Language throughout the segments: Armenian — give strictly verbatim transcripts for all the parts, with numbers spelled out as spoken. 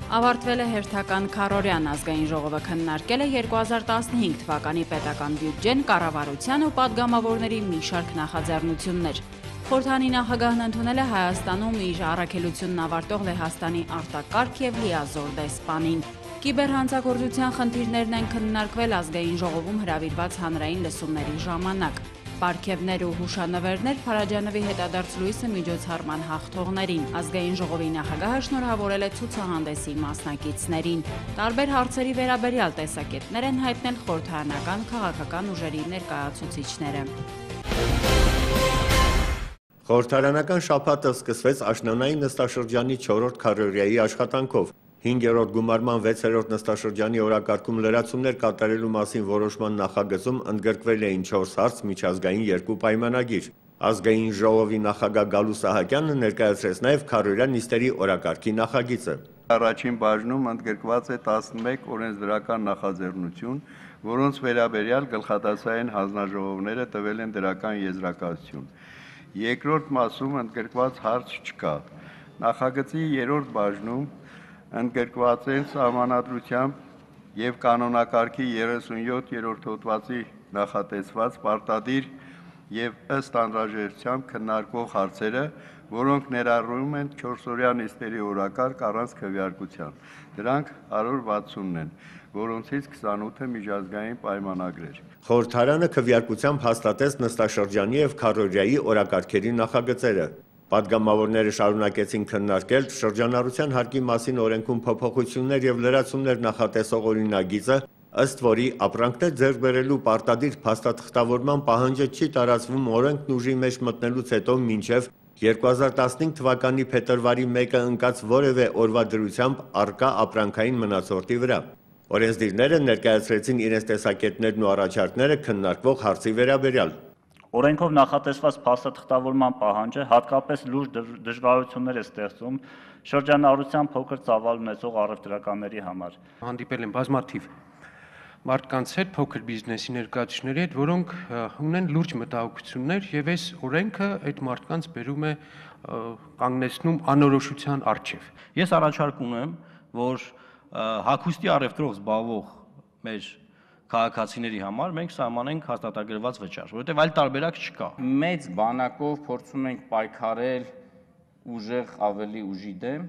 Ավարտվել է հերթական քառօրյան ազգային ժողովը քննարկել է երկու հազար տասնհինգ թվականի պետական բյուջեն, կառավարության ու պատգամավորների մի շարք նախաձեռնություններ։ Խորհրդանի նախագահն ընդունել է Հայաստանում իր առաքելությունն ավարտող Լեհաստանի արտակարգ եւ լիազոր դեսպանին։ Կիբերհանցագործության խնդիրներն են քննարկվել ազգային ժողովում հրավիրված հանրային լսումների ժամանակ։ Պարգևներ ու հուշանվերներ Փարաջանովի հետադարձ լույսը միջոցառման հաղթողներին։ Ազգային ժողովի նախագահը շնորհավորել է ցուցահանդեսի մասնակիցներին։ Տարբեր հարցերի վերաբերյալ տեսակետներ են հայտնել խորհրդարանական քաղաքական ուժերի ներկայացուցիչները։ Խորհրդարանական շաբաթը սկսվեց աշնանային նստաշրջանի չորրորդ քառօրյայի աշխատանքով։ հինգերորդ գումարման վեցերորդ նստաշրջանի օրակարգում լրացումներ կատարելու մասին որոշման նախագծում ընդգրկվել էին չորս հարց, միջազգային երկու պայմանագիր։ Ազգային ժողովի նախագահ Գալու Սահակյանը ներկայացրեց նաև քառօրյա նիստերի օրակարգի նախագիծը։ Առաջին բաժնում ընդգրկված է տասնմեկ օրենսդրական նախաձեռնություն, որոնց վերաբերյալ գլխատեսային հանձնաժողովները տվել են դրական եզրակացություն։ Երկրորդ մասում ընդգրկված հարց չկա։ Նախագծի երրորդ բաժնում ընդգրկված են սահմանադրությամբ եւ կանոնակարգի երեսունյոթերորդ հոդվածի նախատեսված պարտադիր եւ ըստ անհրաժեշտության քննարկվող հարցերը, որոնք ներառում են չորսօրյա նիստերի օրակարգ առանց քվեարկության։ Դրանք հարյուր վաթսուն են, որոնցից քսանութը միջազգային պայմանագրեր։ Խորհրդարանը քվեարկությամբ հաստատեց նստաշրջանի եւ քառօրյայի օրակարգերի նախագծերը։ Պատգամավորները շարունակեցին քննարկել շրջանառության հարկի մասին օրենքում փոփոխություններ եւ լրացումներ նախատեսող օրինագիծը, ըստ որի ապրանքներ ձեռք բերելու պարտադիր փաստաթղթավորման պահանջը չի տարածվում օրենքն ուժի մեջ մտնելուց հետո մինչեւ երկու հազար տասնհինգ թվականի փետրվարի մեկը ընկած որևէ օրվա դրությամբ առկա ապրանքային մնացորդի վրա։ Օրենսդիրները ներկայացրեցին իրենց տեսակետներն ու առաջարկները քննարկվող հարցի վերաբերյալ։ Օրենքով նախատեսված փաստաթղթավորման պահանջը հատկապես լուրջ դժվարություններ է ստեղծում շրջանառության փոքր ծավալ ունեցող առևտրականների համար։ Հանդիպել են բազմաթիվ մարդկանց հետ, փոքր բիզնեսի ներկայացուցիչների հետ, որոնք ունեն լուրջ մտահոգություններ եւ այս օրենքը այդ մարդկանց բերում է կանգնեցնում անորոշության առջև։ Ես առաջարկում եմ, որ հագուստի առևտրով զբաղվող մեր քաղաքացիների համար մենք սահմանենք հաստատագրված վճար, որովհետև այլ տարբերակ չկա։ Մեծ բանակով փորձում ենք պայքարել ուժեղ ավելի ուժի դեմ,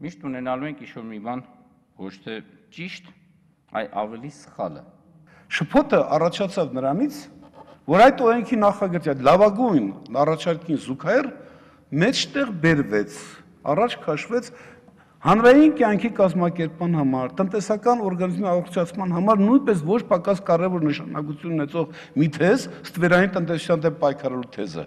միշտ ունենալու ենք ինչ-որ մի բան ոչ թե ճիշտ, այլ ավելի սխալը։ Շփոթը առաջացավ նրանից, որ այդ օրենքի նախագծի այդ լավագույն առաջարկին զուգահեռ մեջտեղ բերվեց, առաջ քաշվեց հանրային կյանքի կազմակերպման համար, տնտեսական օրգանիզմի առողջացման համար նույնպես ոչ պակաս կարևոր նշանակություն ունեցող մի թեզ, ստվերային տնտեսության դեմ պայքարելու թեզը,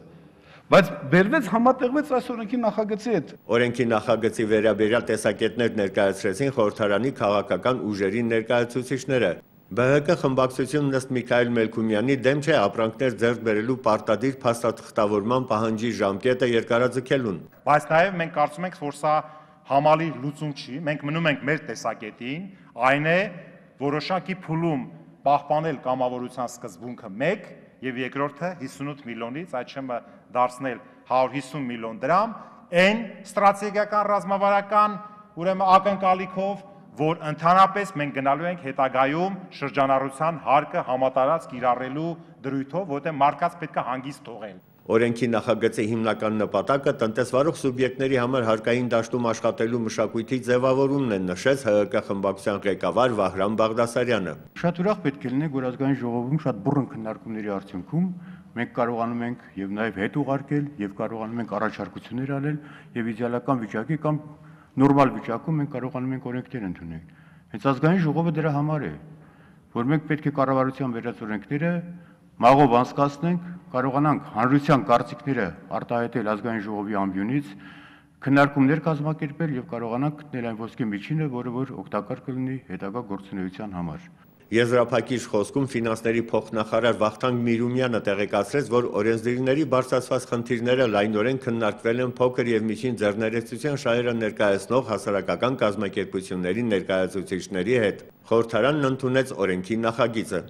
բայց բերվեց համատեղվեց այս օրենքի նախագծի հետ։ Օրենքի նախագծի վերաբերյալ տեսակետներ ներկայացրեցին խորհրդարանի քաղաքական ուժերի ներկայացուցիչները։ Բ Հ Կ խմբակցությունն ըստ Միքայել Մելքումյանի դեմ չէ ապրանքներ ձեռք բերելու պարտադիր փաստաթղթավորման պահանջի ժամկետը երկարաձգելուն։ Բայց նաև մենք կարծում ենք, որ սա համալիր լուծում չի, մենք մնում ենք մեր տեսակետին, այն է որոշակի փուլում պահպանել կամավորության սկզբունքը մեկ եւ երկրորդը հիսունութ միլիոնից, այդչեմ դարձնել հարյուր հիսուն միլիոն դրամ, այն ստրատեգիական ռազմավարական ուրեմն ակնկալիքով, որ ընդհանրապես մենք գնալու ենք հետագայում շրջանառության հարկը համատարած կիրառելու դրույթով, որտեղ մարդկանց պետք է հանգիստ թողել։ Օրենքի նախագծի հիմնական նպատակը տնտեսվարող սուբյեկտների համար հարկային դաշտում աշխատելու մշակույթի ձևավորումն է, նշեց Հ Ը Կ խմբակցության ղեկավար Վահրամ Բաղդասարյանը։ Շատ ուրախ պետք է լինենք, որ ազգային ժողովում շատ բուռն քննարկումների արդյունքում մենք կարողանում ենք եւ նաեւ հետ ուղարկել եւ կարողանում ենք առաջարկություններ անել եւ իդեալական վիճակի կամ նորմալ վիճակում մենք կարողանում ենք օրենքներ ընդունել։ Հենց ազգային ժողովը դրա համար է, որ մենք պետք է կառավարության վերած օրենքները մաղով անցկացնենք, կարողանանք հանրության կարծիքները արտահայտել ազգային ժողովի ամբիոնից, քննարկումներ կազմակերպել եւ կարողանանք գտնել այն ոսկե միջինը, որը որ օգտակար կլինի հետագա գործունեության համար։ Եզրափակիչ խոսքում ֆինանսների փոխնախարար Վախթանգ Միրումյանը տեղեկացրեց, որ օրենսդիրների բարձրացված խնդիրները լայնորեն քննարկվել են փոքր եւ միջին ձեռներեցության շահերը ներկայացնող հասարակական կազմակերպությունների ներկայացուցիչների հետ։ Խորհրդարանն ընդունեց օրենքի նախագիծը։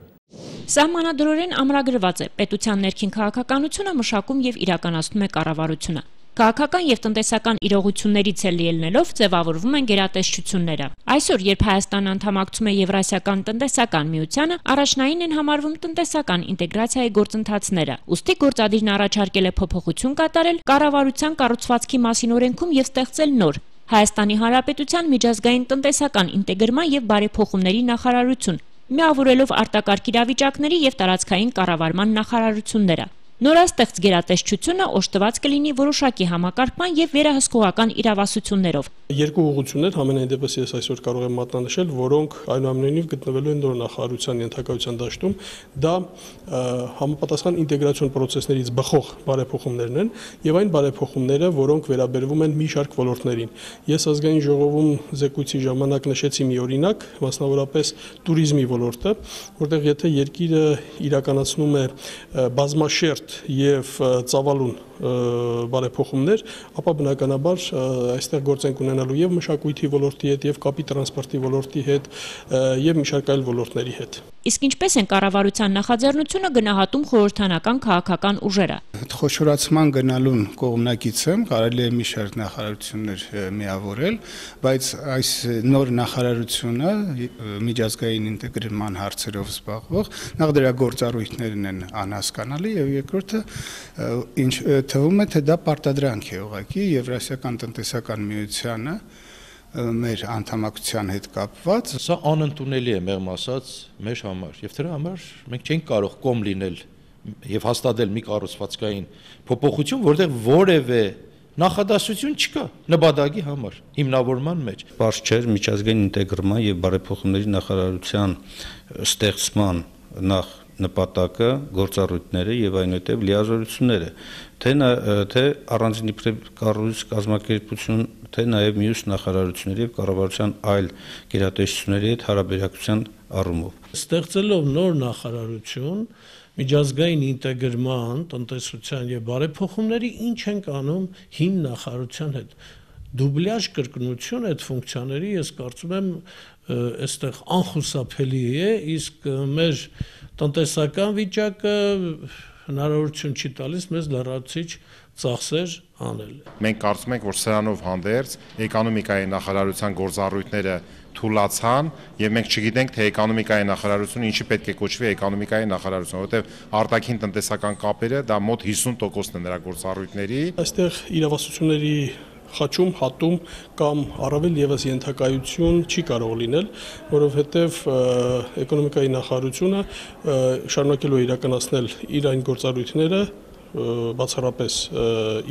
Սահմանադրորեն ամրագրված է պետության ներքին քաղաքականությունը մշակում եւ իրականացնում է կառավարությունը։ Քաղաքական եւ տնտեսական իրողություններից էլ ելնելով ձևավորվում են գերատեսչությունները։ Այսօր, երբ Հայաստանը անդամակցում է Եվրասիական տնտեսական միությանը, առաջնային են համարվում տնտեսական ինտեգրացիայի գործընթացները։ Ուստի գործադիրն առաջարկել է փոփոխություն կատարել կառավարության կառուցվածքի մասին օրենքում եւ ստեղծել նոր Հայաստանի Հանրապետության միջազգային տնտեսական ինտեգրման եւ բարեփոխումների նախարարություն, միավորելով արտակարգ իրավիճակների եւ տարածքային կառավարման նախարարությունները։ Նորաստեղծ գերատեսչությունը օժտված կլինի որոշակի համակարգման եւ վերահսկողական իրավասություններով։ Երկու ուղղություններ համենայն դեպս ես այսօր կարող եմ մատնանշել, որոնք այնուամենայնիվ գտնվելու են նոր նախարարության ենթակայության դաշտում, դա համապատասխան ինտեգրացիոն process-ներից բխող բարեփոխումներն են եւ այն բարեփոխումները, որոնք վերաբերվում են մի շարք ոլորտներին։ Ես ազգային ժողովում զեկույցի ժամանակ նշեցի մի օրինակ, մասնավորապես туриզմի ոլորտը, որտեղ եթե երկիրը իրականացնում է բազմաշերտ եւ ծավալուն բարեփոխումներ, ապա բնականաբար այստեղ գործ ենք ունենալու եւ մշակույթի ոլորտի հետ, եւ կապի տրանսպորտի ոլորտի հետ, եւ մի շարք այլ ոլորտների հետ։ Իսկ ինչպես են կառավարության նախաձեռնությունը գնահատում խորհրդանական քաղաքական ուժերը։ Խոշորացման գնալուն կողմնակից եմ, կարելի է մի շարք նախարարություններ միավորել, բայց այս նոր նախարարությունը միջազգային ինտեգրման հարցերով զբաղվող նախ դրա գործառույթներն են անհասկանալի եւ երկրորդը ինչ թվում է թե դա պարտադրանք է ուղղակի Եվրասիական տնտեսական միությանը մեր անդամակցության հետ կապված։ Սա անընդունելի է մեղմ ասած մեր համար եւ դրա համար մենք չենք կարող կողմ լինել եւ հաստատել մի կառուցվածքային փոփոխություն, որտեղ որևէ նախադասություն չկա նպատակի համար հիմնավորման մեջ։ Պարզ չէ միջազգային ինտեգրման եւ բարեփոխումների նախարարության ստեղծման նախ նպատակը, գործառույթները եւ այնուհետեւ լիազորությունները, թե թե առանձին իբրև կառույց կազմակերպություն, թե նաեւ մյուս նախարարությունների եւ կառավարության այլ գերատեսչությունների հետ հարաբերակցության առումով։ Ստեղծելով նոր նախարարություն, միջազգային ինտեգրման, տնտեսության եւ բարեփոխումների ինչ ենք անում հին նախարարության հետ։ Դուբլյաժ կրկնություն այդ ֆունկցիաների ես կարծում եմ այստեղ անխուսափելի է, իսկ մեր տնտեսական վիճակը հնարավորություն չի տալիս մեզ լրացուցիչ ծախսեր անել։ Մենք կարծում ենք, որ սրանով հանդերձ էկոնոմիկայի նախարարության գործառույթները թուլացան եւ մենք չգիտենք, թե էկոնոմիկայի նախարարությունը ինչի պետք է կոչվի էկոնոմիկայի նախարարություն, որովհետեւ արտաքին տնտեսական կապերը դա մոտ հիսուն տոկոսն է նրա գործառույթների։ Այստեղ իրավասությունների խաչում, հատում կամ առավել եւս ենթակայություն չի կարող լինել, որովհետեւ էկոնոմիկայի նախարարությունը շարունակելու է իրականացնել իր այն գործառույթները բացառապես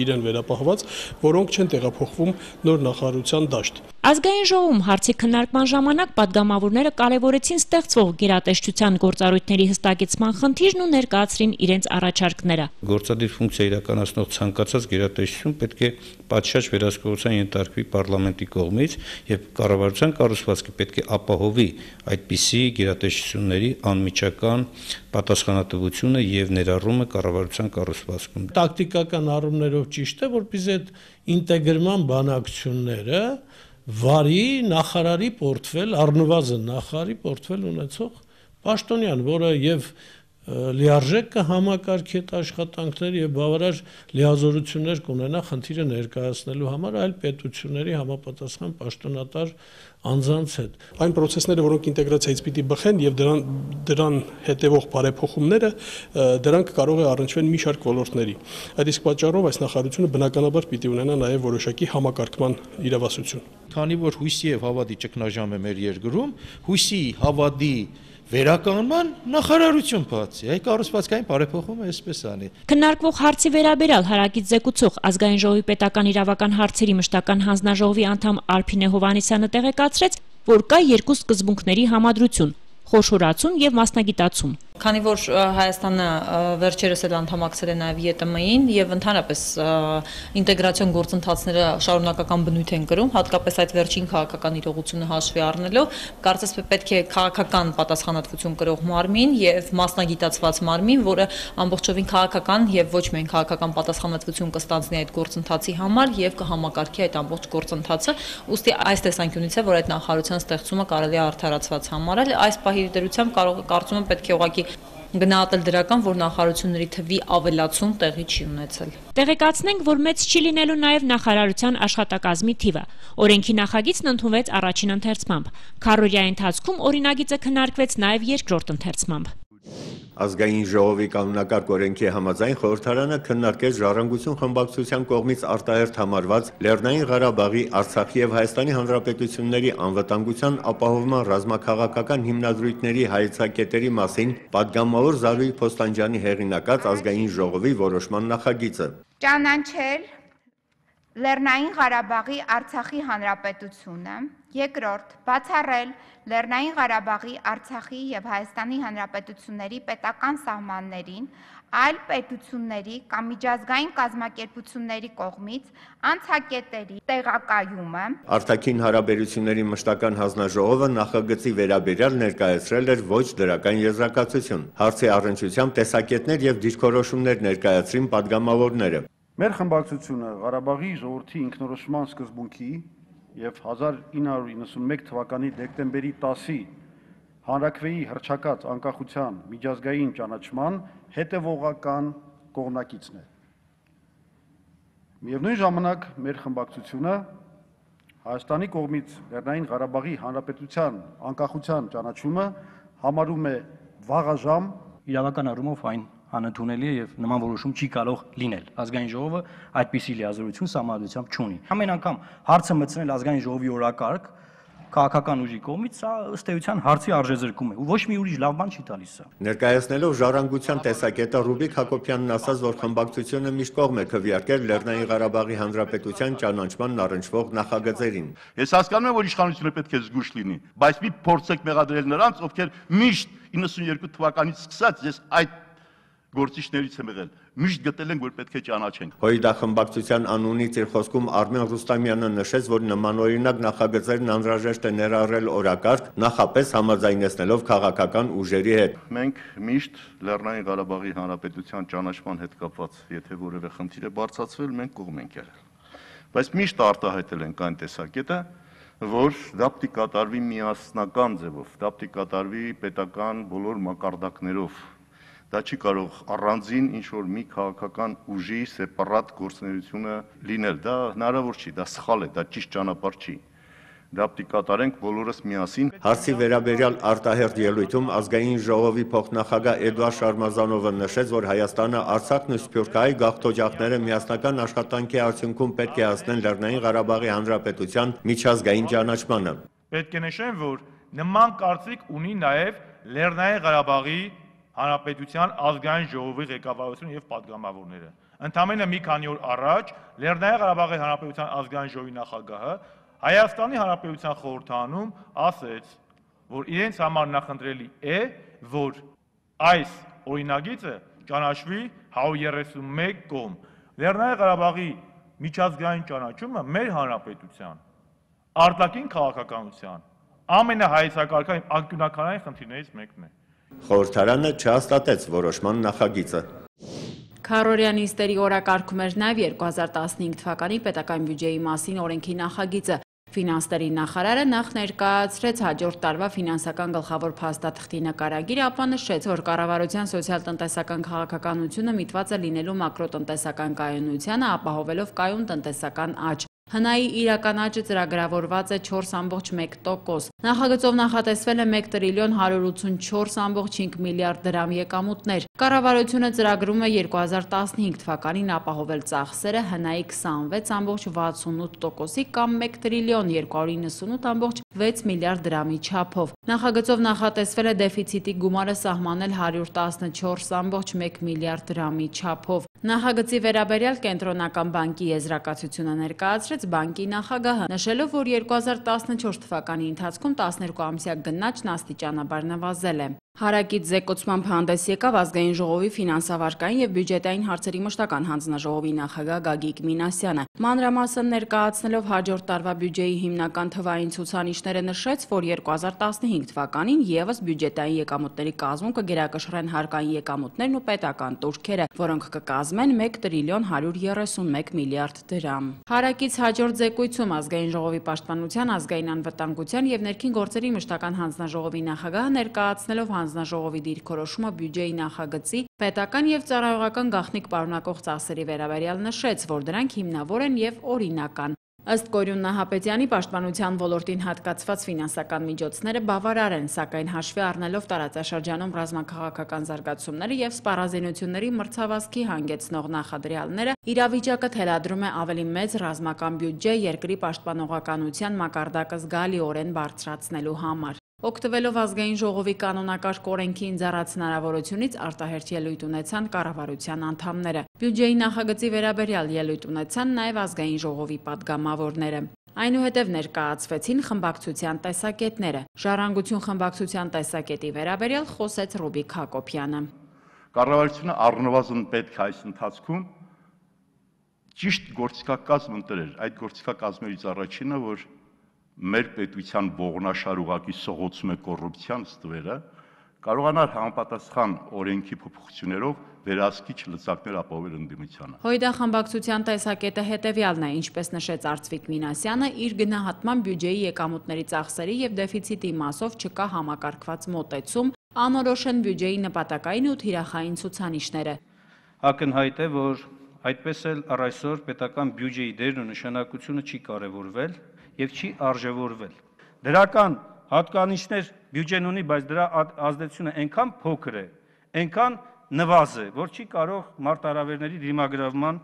իրեն վերապահված, որոնք չեն տեղափոխվում նոր նախարարության դաշտ։ Ազգային ժողովում հարցի քննարկման ժամանակ պատգամավորները կարևորեցին ստեղծվող գերատեսչության գործառույթների հստակեցման խնդիրն ու ներկայացրին իրենց առաջարկները։ Գործադիր ֆունկցիա իրականացնող ցանկացած գերատեսչություն պետք է պատշաճ վերահսկողության ենթարկվի պարլամենտի կողմից եւ կառավարության կառուցվածքը պետք է ապահովի այդպիսի գերատեսչությունների անմիջական պատասխանատվությունը եւ ներառումը կառավարության կառուցվածքում։ Տակտիկական առումներով ճիշտ է, որպեսզի այդ ինտեգրման բանակցությունները վարի նախարարի պորտֆել, առնվազն նախարարի պորտֆել ունեցող պաշտոնյան, որը եւ լիարժեք կհամակարգի այդ աշխատանքներ եւ բավարար լիազորություններ կունենա խնդիրը ներկայացնելու համար այլ պետությունների համապատասխան պաշտոնատար անձանց հետ։ Այն process-ները, որոնք ինտեգրացիայից պիտի բխեն եւ դրան դրան հետեւող բարեփոխումները, դրանք կարող է առնչվեն մի շարք ոլորտների։ Այդ իսկ պատճառով այս նախարարությունը բնականաբար պիտի ունենա նաեւ որոշակի համակարգման իրավասություն։ Քանի որ հույսի եւ հավատի ճգնաժամ է մեր երկրում, հույսի, հավատի վերականգնման նախարարություն բացի, այ կառուցվածքային բարեփոխումը այսպես անի։ Քննարկվող հարցի վերաբերյալ հարակից զեկուցող ազգային ժողովի պետական իրավական հարցերի մշտական հանձնաժողովի անդամ Արփինե Հովհաննիսյանը տեղեկացրեց, որ կա երկու սկզբունքների համադրություն՝ խոշորացում եւ մասնագիտացում։ Քանի որ Հայաստանը վերջերս էլ անդամակցել է նաև ԵՏՄ-ին եւ ընդհանրապես ինտեգրացիոն գործընթացները շարունակական բնույթ են կրում, հատկապես այդ վերջին քաղաքական իրողությունը հաշվի առնելով, կարծես պետք է քաղաքական պատասխանատվություն կրող մարմին եւ մասնագիտացված մարմին, որը ամբողջովին քաղաքական եւ ոչ միայն քաղաքական պատասխանատվություն կստանձնի այդ գործընթացի համար եւ կհամակարգի այդ ամբողջ գործընթացը, ուստի այս տեսանկյունից է, որ այդ նախարարության ստեղծումը կարելի է արդարացված համարել, այս պահի դերությամբ կարող կարծում եմ պետք է ուղղակի գնահատել դրական, որ նախարարությունների թվի ավելացում տեղի չի ունեցել։ Տեղեկացնենք, որ մեծ չի լինելու նաև նախարարության աշխատակազմի թիվը։ Օրենքի նախագիծն ընդունվեց առաջին ընթերցմամբ։ Քառօրյա ընթացքում օրինագիծը քննարկվեց նաև երկրորդ ընթերցմամբ։ Ազգային ժողովի կանոնակարգ օրենքի համաձայն խորհրդարանը քննարկեց Ժառանգություն խմբակցության կողմից արտահերթ համարված Լեռնային Ղարաբաղի, Արցախի եւ Հայաստանի Հանրապետությունների անվտանգության ապահովման ռազմաքաղաքական հիմնադրույթների հայեցակետերի մասին պատգամավոր Զարուհի Փոստանջյանի հեղինակած Ազգային ժողովի որոշման նախագիծը։ Ճանաչել Լեռնային Ղարաբաղի Արցախի Հանրապետությունը, երկրորդ բացառել Լեռնային Ղարաբաղի, Արցախի եւ Հայաստանի Հանրապետությունների պետական սահմաններին այլ պետությունների կամ միջազգային կազմակերպությունների կողմից անցակետերի տեղակայումը։ Արտաքին հարաբերությունների մշտական հանձնաժողովը նախագծի վերաբերյալ ներկայացրել էր ոչ դրական եզրակացություն։ Հարցի առնչությամբ տեսակետներ եւ դիրքորոշումներ ներկայացրին պատգամավորները։ Մեր խմբակցությունը Ղարաբաղի ժողովրդի ինքնորոշման սկզբունքի եւ հազար ինը հարյուր իննսունմեկ թվականի դեկտեմբերի տասի հանրաքվեի հռչակած անկախության միջազգային ճանաչման հետևողական կողմնակիցն է։ Միևնույն ժամանակ մեր խմբակցությունը Հայաստանի կողմից Լեռնային Ղարաբաղի Հանրապետության անկախության ճանաչումը համարում է վաղաժամ, իրավական առումով այն անընդունելի է եւ նման որոշում չի կարող լինել։ Ազգային ժողովը այդպիսի լիազորություն սահմանադրությամբ չունի։ Ամեն անգամ հարցը մտցնել ազգային ժողովի օրակարգ քաղաքական ուժի կողմից, սա ըստ էության հարցի արժեզրկում է, ու ոչ մի ուրիշ լավ բան չի տալիս սա։ Ներկայացնելով ժառանգության տեսակետը Ռուբիկ Հակոբյանն ասաց, որ խմբակցությունը միշտ կողմ է քվեարկել Լեռնային Ղարաբաղի Հանրապետության ճանաչմանն առնչվող նախագծերին։ Ես հասկանում եմ, որ իշխանությունը պետք է զգույշ լինի, բայց մի փորձեք մեղադրել նրանց, ովքեր միշտ իննսունյերկու թվականից սկսած ես այդ գործիչներից եմ եղել, միշտ գտել ենք, որ պետք է ճանաչենք։ Հույդա խմբակցության անունից իր խոսքում Արմեն Ռուստամյանը նշեց, որ նմանօրինակ նախագծերն անհրաժեշտ է ներառել օրակարգ, նախապես համաձայնեցնելով քաղաքական ուժերի հետ։ Մենք միշտ Լեռնային Ղարաբաղի Հանրապետության ճանաչման հետ կապված, եթե որևէ խնդիր է բարձրացվել, մենք կողմ ենք եղել։ Բայց միշտ արտահայտել ենք այն տեսակետը, որ դա պիտի կատարվի միասնական ձևով, դա պիտի կատարվի պետական բոլոր մակարդակներով։ Դա չի կարող առանձին ինչ-որ մի քաղաքական ուժի սեպարատ գործունեությունը լինել, դա հնարավոր չի, դա սխալ է, դա ճիշտ ճանապարհ չի։ Դա պիտի կատարենք բոլորս միասին։ Հարցի վերաբերյալ արտահերթ ելույթում ազգային ժողովի փոխնախագահ Էդուարդ Շարմազանովը նշեց, որ Հայաստանը, Արցախն ու Սփյուռքահայ գաղթօջախները միասնական աշխատանքի արդյունքում պետք է հասնեն Լեռնային Ղարաբաղի Հանրապետության միջազգային ճանաչմանը։ Պետք է նշեմ, որ նման կարծիք ունի նաև Լեռնային Ղարաբաղի Հանրապետության ազգային ժողովի ղեկավարությունը եւ պատգամավորները։ Ընդամենը մի քանի օր առաջ Լեռնային Ղարաբաղի Հանրապետության ազգային ժողովի նախագահը Հայաստանի Հանրապետության խորհրդանում ասեց, որ իրենց համար նախընտրելի է, որ այս օրինագիծը ճանաչվի հարյուր երեսունմեկ կողմ։ Լեռնային Ղարաբաղի միջազգային ճանաչումը մեր հանրապետության արտաքին քաղաքականության ամենահայեցակարգային անկյունականային խնդիրներից մեկն է։ Խորհրդարանը չհաստատեց որոշման նախագիծը։ Քառօրյա նիստերի օրակարգում էր նաև երկու հազար տասնհինգ թվականի պետական բյուջեի մասին օրենքի նախագիծը։ Ֆինանսների նախարարը նախ ներկայացրեց հաջորդ տարվա ֆինանսական գլխավոր փաստաթղթի նկարագիրը, ապա նշեց, որ կառավարության սոցիալ-տնտեսական քաղաքականությունը միտված է լինելու մակրոտնտեսական կայունությանը, ապահովելով կայուն տնտեսական աճ։ Հնայի իրական աճը ծրագրավորված է չորս ամբողջ մեկ տոկոս։ Նախագծով նախատեսվել է մեկ տրիլիոն հարյուր ութսունչորս ամբողջ հինգ միլիարդ դրամ եկամուտներ։ Կառավարությունը ծրագրում է երկու հազար տասնհինգ թվականին ապահովել ծախսերը հնայի քսանվեց ամբողջ վաթսունութ տոկոսի կամ մեկ տրիլիոն երկու հարյուր իննսունութ ամբողջ վեց միլիարդ դրամի չափով։ Նախագծով նախատեսվել է դեֆիցիտի գումարը սահմանել հարյուր տասնչորս ամբողջ մեկ միլիարդ դրամի չափով։ Նախագծի վերաբերյալ Կենտրոնական բանկի եզրակացությունը ներկայացրեց բանկի նախագահը, նշելով, որ երկու հազար տասնչորս թվականի ընթացքում տասներկու ամսյա գնաճն աստիճանաբար նվազել է։ Հարակից զեկուցմամբ հանդես եկավ ազգային ժողովի ֆինանսավարկային եւ բյուջետային հարցերի մշտական հանձնաժողովի նախագահ Գագիկ Մինասյանը։ Մանրամասն ներկայացնելով հաջորդ տարվա բյուջեի հիմնական թվային ցուցանիշները նշեց, որ երկու հազար տասնհինգ թվականին եւս բյուջետային եկամուտների կազմում կգերակշռեն հարկային եկամուտներն ու պետական տուրքերը, որոնք կկազմեն մեկ տրիլիոն հարյուր երեսունմեկ միլիարդ դրամ։ Հարակից հաջորդ զեկույցում ազգային ժողովի պաշտպանության, ազգային անվտանգության եւ ներքին գործերի մշտական հանձնաժողովի նախագահը ներկայացնելով հանձնաժողովի դիրքորոշումը բյուջեի նախագծի պետական եւ ծառայողական գաղտնիք պարունակող ծախսերի վերաբերյալ նշեց, որ դրանք հիմնավոր են եւ օրինական։ Ըստ Կորյուն Նահապետյանի, պաշտպանության ոլորտին հատկացված ֆինանսական միջոցները բավարար են, սակայն հաշվի առնելով տարածաշրջանում ռազմաքաղաքական զարգացումները եւ սպառազինությունների մրցավազքի հանգեցնող նախադրյալները, իրավիճակը թելադրում է ավելի մեծ ռազմական բյուջե երկրի պաշտպանողականության մակարդակը զգալիորեն բարձրացնելու համար։ Օգտվելով ազգային ժողովի կանոնակարգ օրենքի ընձեռած հնարավորությունից արտահերթ ելույթ ունեցան կառավարության անդամները։ Բյուջեի նախագծի վերաբերյալ ելույթ ունեցան նաև ազգային ժողովի падգամավորները։ Այնուհետև ներկայացվեցին խմբակցության տեսակետները։ Ժառանգություն խմբակցության տեսակետի վերաբերյալ խոսեց Ռուբիկ Հակոբյանը։ Կառավարությունը առնվազն պետք է այս ընթացքում ճիշտ գործիքակազմ ընտրել։ Այդ գործիքակազմերից առաջինը, որ մեր պետության ողնաշար ուղակի սողոցում է կոռուպցիան ստվերը, կարողանար համապատասխան օրենքի փոփոխություններով վերահսկիչ լծակներ ապահովել ընդդիմությանը։ Հույդա խմբակցության տեսակետը հետևյալն է, ինչպես նշեց Արծվիկ Մինասյանը, իր գնահատման բյուջեի եկամուտների ծախսերի եւ դեֆիցիտի մասով չկա համակարգված մոտեցում, անորոշ են բյուջեի նպատակային ու թիրախային ցուցանիշները։ Ակնհայտ է, որ այդպես էլ առ այսօր պետական բյուջեի դերն ու նշանակությունը չի կարևորվել եւ չի արժևորվել։ Դրական հատկանիշներ բյուջեն ունի, բայց դրա ազդեցությունը այնքան փոքր է, այնքան նվազ է, որ չի կարող մարտահրավերների դիմագրավման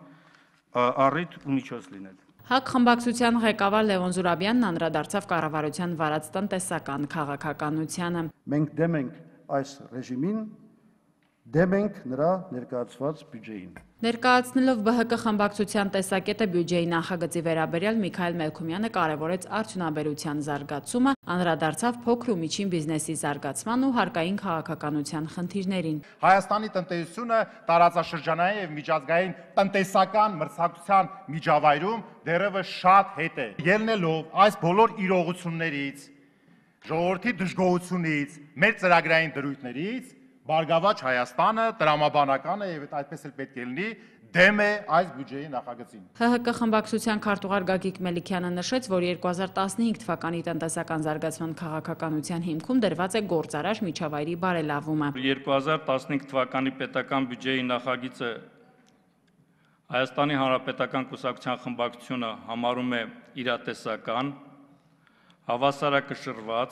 առիթ ու միջոց լինել։ ՀԱԿ խմբակցության ղեկավար Լևոն Զուրաբյանն անդրադարձավ կառավարության վարած տնտեսական քաղաքականությանը։ Մենք դեմ ենք այս ռեժիմին, դեմ ենք նրա ներկայացված բյուջեին։ Ներկայացնելով ԲՀԿ խմբակցության տեսակետը բյուջեի նախագծի վերաբերյալ Միքայել Մելքումյանը կարևորեց արդյունաբերության զարգացումը, անդրադարձավ փոքր ու միջին բիզնեսի զարգացման ու հարկային քաղաքականության խնդիրներին։ Հայաստանի տնտեսությունը տարածաշրջանային եւ միջազգային տնտեսական մրցակցության միջավայրում դեռևս շատ հետ է։ Ելնելով այս բոլոր իրողություններից, ժողովրդի դժգոհությունից, մեր ծրագրային դրույթներից, Բարգավաճ Հայաստանը, տրամաբանականը եւ այդպես էլ պետք է լինի դեմ է այս բյուջեի նախագծին։ ՀՀԿ խմբակցության քարտուղար Գագիկ Մելիքյանը նշեց, որ երկու հազար տասնհինգ թվականի տնտեսական զարգացման քաղաքականության հիմքում դրված է գործարար միջավայրի բարելավումը։ երկու հազար տասնհինգ թվականի պետական բյուջեի նախագիծը Հայաստանի Հանրապետական կուսակցության խմբակցությունը համարում է իրատեսական, հավասարակշռված,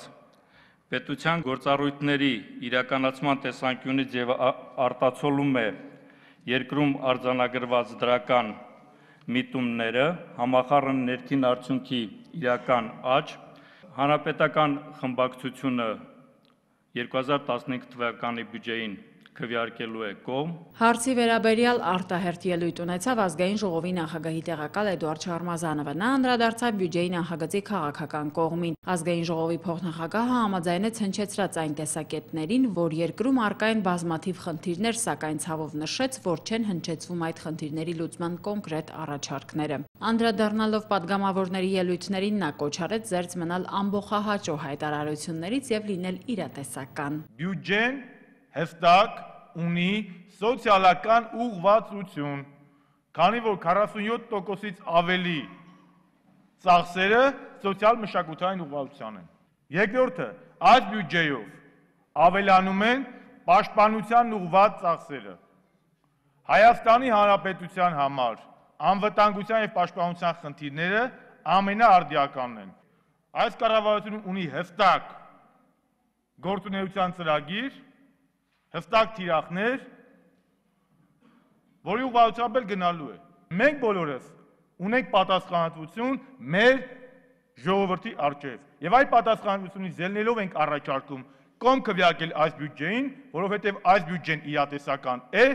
պետության գործառույթների իրականացման տեսանկյունից եւ արտացոլում է երկրում արձանագրված դրական միտումները, համախառն ներքին արդյունքի իրական աճ, հանրապետական խմբակցությունը երկու հազար տասնհինգ թվականի բյուջեին քվեարկելու է կողմ։ Հարցի վերաբերյալ արտահերթ ելույթ ունեցավ ազգային ժողովի նախագահի տեղակալ Էդուարդ Շարմազանովը։ Նա անդրադարձավ բյուջեի նախագծի քաղաքական կողմին։ Ազգային ժողովի փոխնախագահը համաձայնեց հնչեցրած այն տեսակետներին, որ երկրում առկա են բազմաթիվ խնդիրներ, սակայն ցավով նշեց, որ չեն հնչեցվում այդ խնդիրների լուծման կոնկրետ առաջարկները։ Անդրադառնալով падգամավորների ելույթներին նա կոչ արեց զերծ մնալ ամբողջահաճո հայտարարություններից եւ լինել իրատեսական։ Բյուջեն հստակ ունի սոցիալական ուղղվածություն, քանի որ քառասունյոթ տոկոսից ավելի ծախսերը սոցիալ մշակութային ուղղվածության են։ Երկրորդը, այս բյուջեով ավելանում են պաշտպանության ուղղված ծախսերը։ Հայաստանի Հանրապետության համար անվտանգության եւ պաշտպանության խնդիրները ամենաարդիականն են։ Այս կառավարությունը ունի հստակ գործունեության ծրագիր, հստակ թիրախներ, որի ուղղությամբ էլ գնալու է։ Մենք բոլորս ունենք պատասխանատվություն մեր ժողովրդի առջև եւ այդ պատասխանատվությունից ելնելով ենք առաջարկում կողմ քվեարկել այս բյուջեին, որովհետեւ այս բյուջեն իրատեսական է,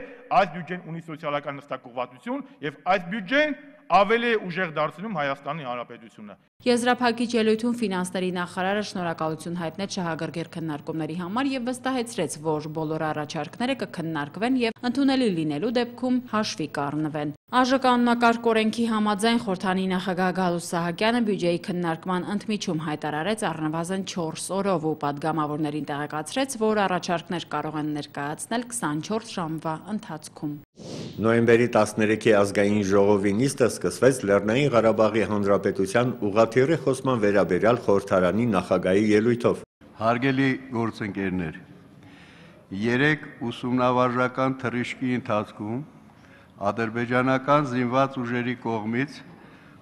այս բյուջեն ունի սոցիալական հստակ ուղղվածություն եւ այս բյուջեն ավելի է ուժեղ դարձնում Հայաստանի Հանրապետությունը։ Եզրափակիչ ելույթում ֆինանսների նախարարը շնորհակալություն հայտնեց շահագրգիռ քննարկումների համար եւ վստահեցրեց, որ բոլոր առաջարկները կքննարկվեն եւ ընդունելի լինելու դեպքում հաշվի կառնվեն։ ԱԺ կանոնակարգ օրենքի համաձայն խորհրդանի նախագահ Գալուստ Սահակյանը բյուջեի քննարկման ընդմիջում հայտարարեց առնվազն չորս օրով ու падգամավորներին տեղեկացրեց, որ առաջարկներ կարող են ներկայացնել քսանչորս ժամվա ընթացքում։ Նոյեմբերի տասներեքի ազգային ժողովի նիստը սկսվեց Լեռնային Ղարաբաղի Հանրապետության ուղղաթիռի խոսման վերաբերյալ խորհրդարանի նախագահի ելույթով։ Հարգելի գործընկերներ, երեք ուսումնավարժական թռիչքի ընթացքում ադրբեջանական զինված ուժերի կողմից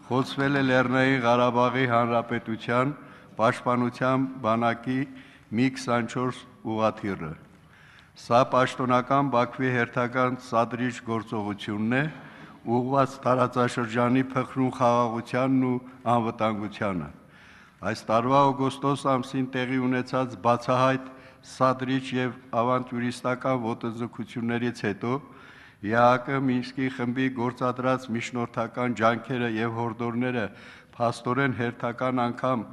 խոցվել է Լեռնային Ղարաբաղի Հանրապետության Պաշտպանության բանակի մի քսանչորս ուղղաթիռը։ Սա պաշտոնական Բաքվի հերթական սադրիչ գործողությունն է, ուղղված տարածաշրջանի փխրուն խաղաղությանն ու անվտանգությանը։ Այս տարվա օգոստոս ամսին տեղի ունեցած բացահայտ սադրիչ եւ ավանտյուրիստական ոտնձգություններից հետո Է Ա Հ Մինսկի խմբի գործադրած միջնորդական ջանքերը եւ հորդորները փաստորեն հերթական անգամ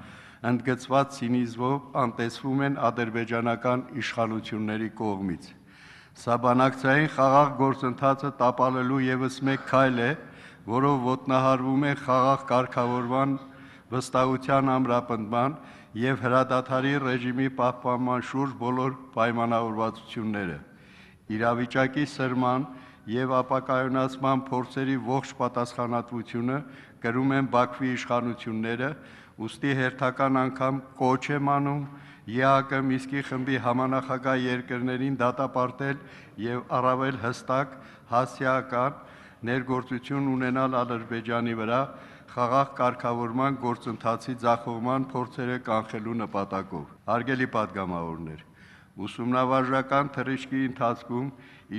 ընդգծված ցինիզմով անտեսվում են ադրբեջանական իշխանությունների կողմից։ Սա բանակցային խաղաղ գործընթացը տապալելու եւս մեկ քայլ է, որով ոտնահարվում է խաղաղ կարգավորման վստահության ամրապնդման եւ հրադադարի ռեժիմի պահպանման շուրջ բոլոր պայմանավորվածությունները։ Իրավիճակի սրման եւ ապակայունացման փորձերի ողջ պատասխանատվությունը կրում են Բաքվի իշխանությունները, ուստի հերթական անգամ կոչ եմ անում Է Ա Հ Մինսկի խմբի համանախագահ երկրներին դատապարտել եւ առավել հստակ հասարակական ներգործություն ունենալ Ադրբեջանի վրա խաղաղ կարգավորման գործընթացի ձախողման փորձերը կանխելու նպատակով։ Հարգելի պատգամավորներ, ուսումնավարժական թռիչքի ընթացքում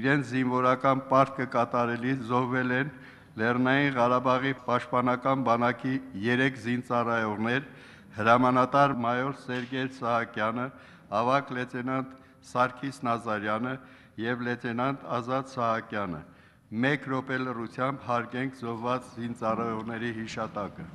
իրենց զինվորական պարտքը կատարելիս զոհվել են Լեռնային Ղարաբաղի պաշտպանական բանակի երեք զինծառայողներ, հրամանատար մայոր Սերգեյ Սահակյանը, ավագ լեյտենանտ Սարգիս Նազարյանը եւ լեյտենանտ Ազատ Սահակյանը։ Մեկ րոպե լռությամբ հարգենք զոհված զինծառայողների հիշատակը։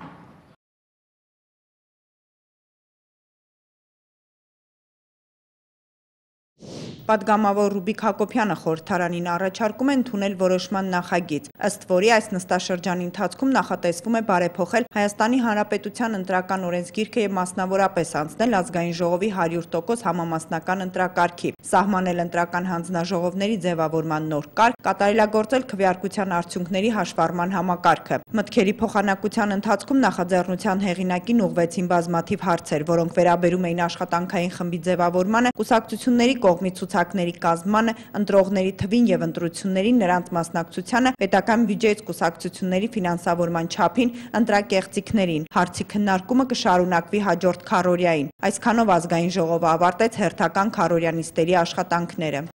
Պատգամավոր Ռուբիկ Հակոբյանը խորհրդարանին առաջարկում է ընդունել որոշման նախագիծ, ըստ որի այս նստաշրջանի ընթացքում նախատեսվում է բարեփոխել Հայաստանի Հանրապետության ընտրական օրենսգիրքը եւ մասնավորապես անցնել ազգային ժողովի հարյուր տոկոս համամասնական ընտրակարգի, սահմանել ընտրական հանձնաժողովների ձևավորման նոր կարգ, կատարելագործել քվեարկության արդյունքների հաշվառման համակարգը։ Մտքերի փոխանակության ընթացքում նախաձեռնության հեղինակին ուղղվեցին բազմաթիվ հարցեր, որոնք վերաբերում էին աշխատանքային խմբի ձևավորմանը, կուսակցությունների կողմից ցուցակների կազմմանը, ընտրողների թվին եւ ընտրություններին նրանց մասնակցությանը, պետական բյուջեից կուսակցությունների ֆինանսավորման չափին, ընտրակեղծիքներին։ Հարցի քննարկումը կշարունակվի հաջորդ քառօրյային։ Այսքանով ազգային ժողովը ավարտեց հերթական քառօրյանիստերի աշխատանքները։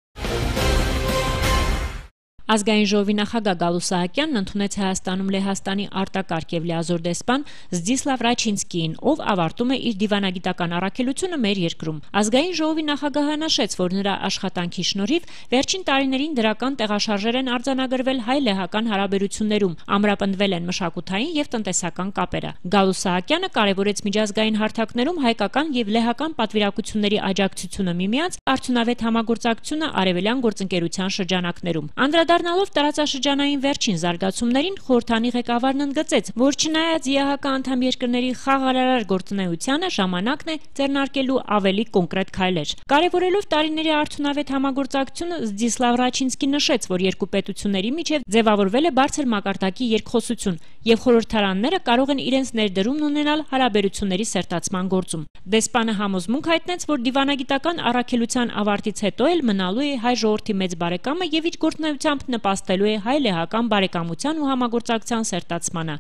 Ազգային ժողովի նախագահ Գալու Սահակյանն ընդունեց Հայաստանում Լեհաստանի արտակարգ եւ լիազոր դեսպան Զդիսլավ Ռաչինսկիին, ով ավարտում է իր դիվանագիտական առաքելությունը մեր երկրում։ Ազգային ժողովի նախագահը նշեց, որ նրա աշխատանքի շնորհիվ վերջին տարիներին դրական տեղաշարժեր են արձանագրվել հայ-լեհական հարաբերություններում, ամրապնդվել են մշակութային եւ տնտեսական կապերը։ Գալու Սահակյանը կարևորեց միջազգային հարթակներում հայկական եւ լեհական պատվիրակությունների աջակցությունը միմյանց, արդյունավետ համագործակցությունը արևելյան գործընկերության շրջանակներում։ Անդրադառնալով տարածաշրջանային վերջին զարգացումներին, խորհրդանի ղեկավարն ընդգծեց, որ չնայած Է Ա Հ անդամ երկրների խաղաղարար գործունեությանը, ժամանակն է ձեռնարկելու ավելի կոնկրետ քայլեր։ Կարևորելով տարիների արդյունավետ համագործակցությունը, Զդիսլավ Ռաչինսկին նշեց, որ երկու պետությունների միջև ձևավորվել է բարձր մակարդակի երկխոսություն, եւ խորհրդարանները կարող են իրենց ներդրումն ունենալ հարաբերությունների սերտացման գործում։ Դեսպանը համոզմունք հայտնեց, որ դիվանագիտական առաքելության ավարտից հետո էլ մնալու է հայ ժողովրդի մեծ բարեկամը եւ իր գործունեությամբ նպաստելու է հայ-լեհական բարեկամության ու համագործակցության սերտացմանը։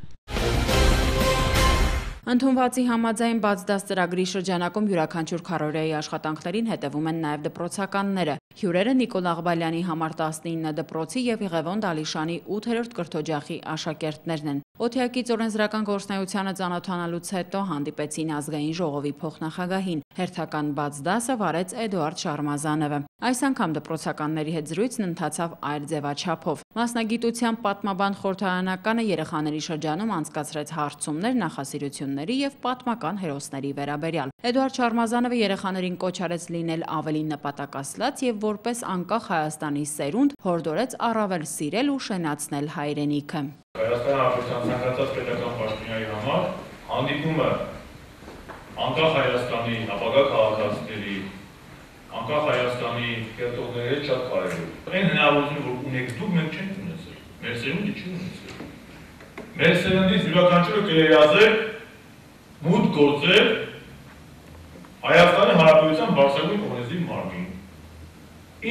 Ընդունվածի համաձայն բաց դաս ծրագրի շրջանակում յուրաքանչյուր քառօրյայի աշխատանքներին հետևում են նաև դպրոցականները։ Հյուրերը Նիկոլ Աղբալյանի համար տասնինը դպրոցի եւ Եղևոն Դալիշանի ութերորդ կրթօջախի աշակերտներն են։ Օթեակից օրենսդրական գործնեությանը ծանոթանալուց հետո հանդիպեցին ազգային ժողովի փոխնախագահին։ Հերթական բաց դասը վարեց Էդուարդ Շարմազանովը։ Այս անգամ դպրոցականների հետ զրույցն ընթացավ այլ ձևաչափով։ Մասնագիտությամբ պատմաբան խորհրդարանականը երեխաների շրջանում անցկացրեց հարցումներ նախասիրությունների եւ պատմական հերոսների վերաբերյալ։ Էդուարդ Շարմազանովը երեխաներին կոչ արեց լինել ավելի նպատակասլաց եւ որպես անկախ Հայաստանի սերունդ հորդորեց առավել սիրել ու շենացնել հայրենիքը։ Հայաստանի Հանրապետության ցանկացած պետական պաշտոնյայի համար հանդիպումը անկախ Հայաստանի ապագա քաղաքացիների, անկախ Հայաստանի կերտողների հետ շատ կարևոր է։ Այն հնարավորությունը, որ ունեք դուք, մենք չենք ունեցել։ Մեր սերունդը չի ունեցել։ Մեր սերնդից յուրաքանչյուրը կերիազել մուտք գործել Հայաստանի Հանրապետության բարձրագույն կոնգրեսի մարմին։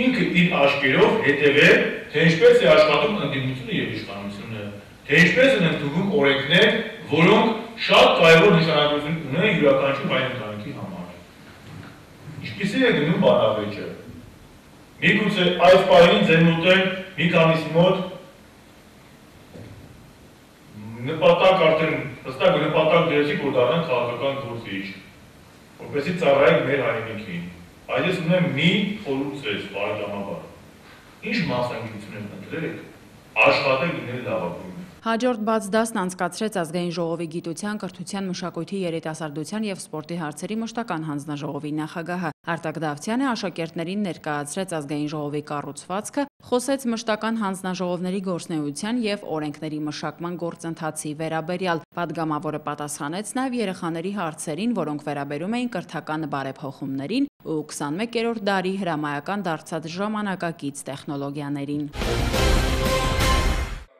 ինքը իր աչքերով հետևել, թե ինչպես է աշխատում ընդդիմությունը եւ իշխանությունը, թե ինչպես են ընդունում օրենքներ, որոնք շատ կարևոր նշանակություն ունեն յուրաքանչյուր հայ ընտանիքի համար։ Ինչպիսի է գնում բանավեճը։ Միգուցե այս պահին ձեր մոտ է մի քանիսի մոտ նպատակ արդեն հստակ նպատակ դրեցիք, որ դառնան քաղաքական գործիչ, որպեսզի ծառայեք մեր հայրենիքին։ Այդ ես ունեմ մի խորհուրդ ձեզ, բարեկամաբար։ Ինչ մասնակցություն եք ընտրեք, աշխատեք լինել լավագույնը։ Հաջորդ բաց դասն անցկացրեց Ազգային ժողովի գիտության, կրթության, մշակույթի, երիտասարդության և սպորտի հարցերի մշտական հանձնաժողովի նախագահը Արտակ Դավթյանը աշակերտներին ներկայացրեց Ազգային ժողովի կառուցվածքը, խոսեց մշտական հանձնաժողովների գործունեության և օրենքների մշակման գործընթացի վերաբերյալ։ Պատգամավորը պատասխանեց նաև երեխաների հարցերին, որոնք վերաբերում էին կրթական բարեփոխումներին ու քսանմեկերորդ դարի հրամայական դարձած ժամանակակից տեխնոլոգիաներին։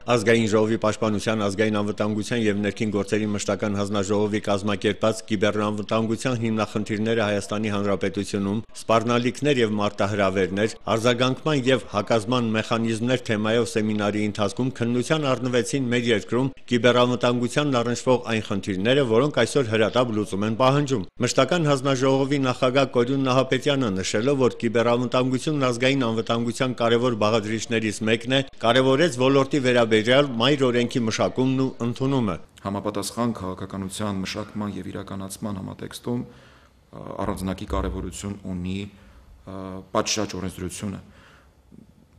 Ազգային ժողովի պաշտպանության, ազգային անվտանգության և ներքին գործերի մշտական հանձնաժողովի կազմակերպած կիբեռանվտանգության հիմնախնդիրները Հայաստանի Հանրապետությունում, սպառնալիքներ և մարտահրավերներ, արձագանքման և հակազման մեխանիզմներ թեմայով սեմինարի ընթացքում քննության առնվեցին մեր երկրում կիբեռանվտանգությանն առնչվող այն խնդիրները, որոնք այսօր հրատապ լուծում են պահանջում։ Մշտական հանձնաժողովի նախագահ Կորյուն Նահապետյանը նշելով, որ կիբեռանվտանգությունն ազգային անվտանգության կարևոր բաղադրիչներից մեկն է, կարևորեց ոլորտի վերաբերյալ մայր օրենքի մշակումն ու ընդունումը։ Համապատասխան քաղաքականության մշակման և իրականացման համատեքստում առանձնակի կարևորություն ունի պատշաճ օրենսդրությունը։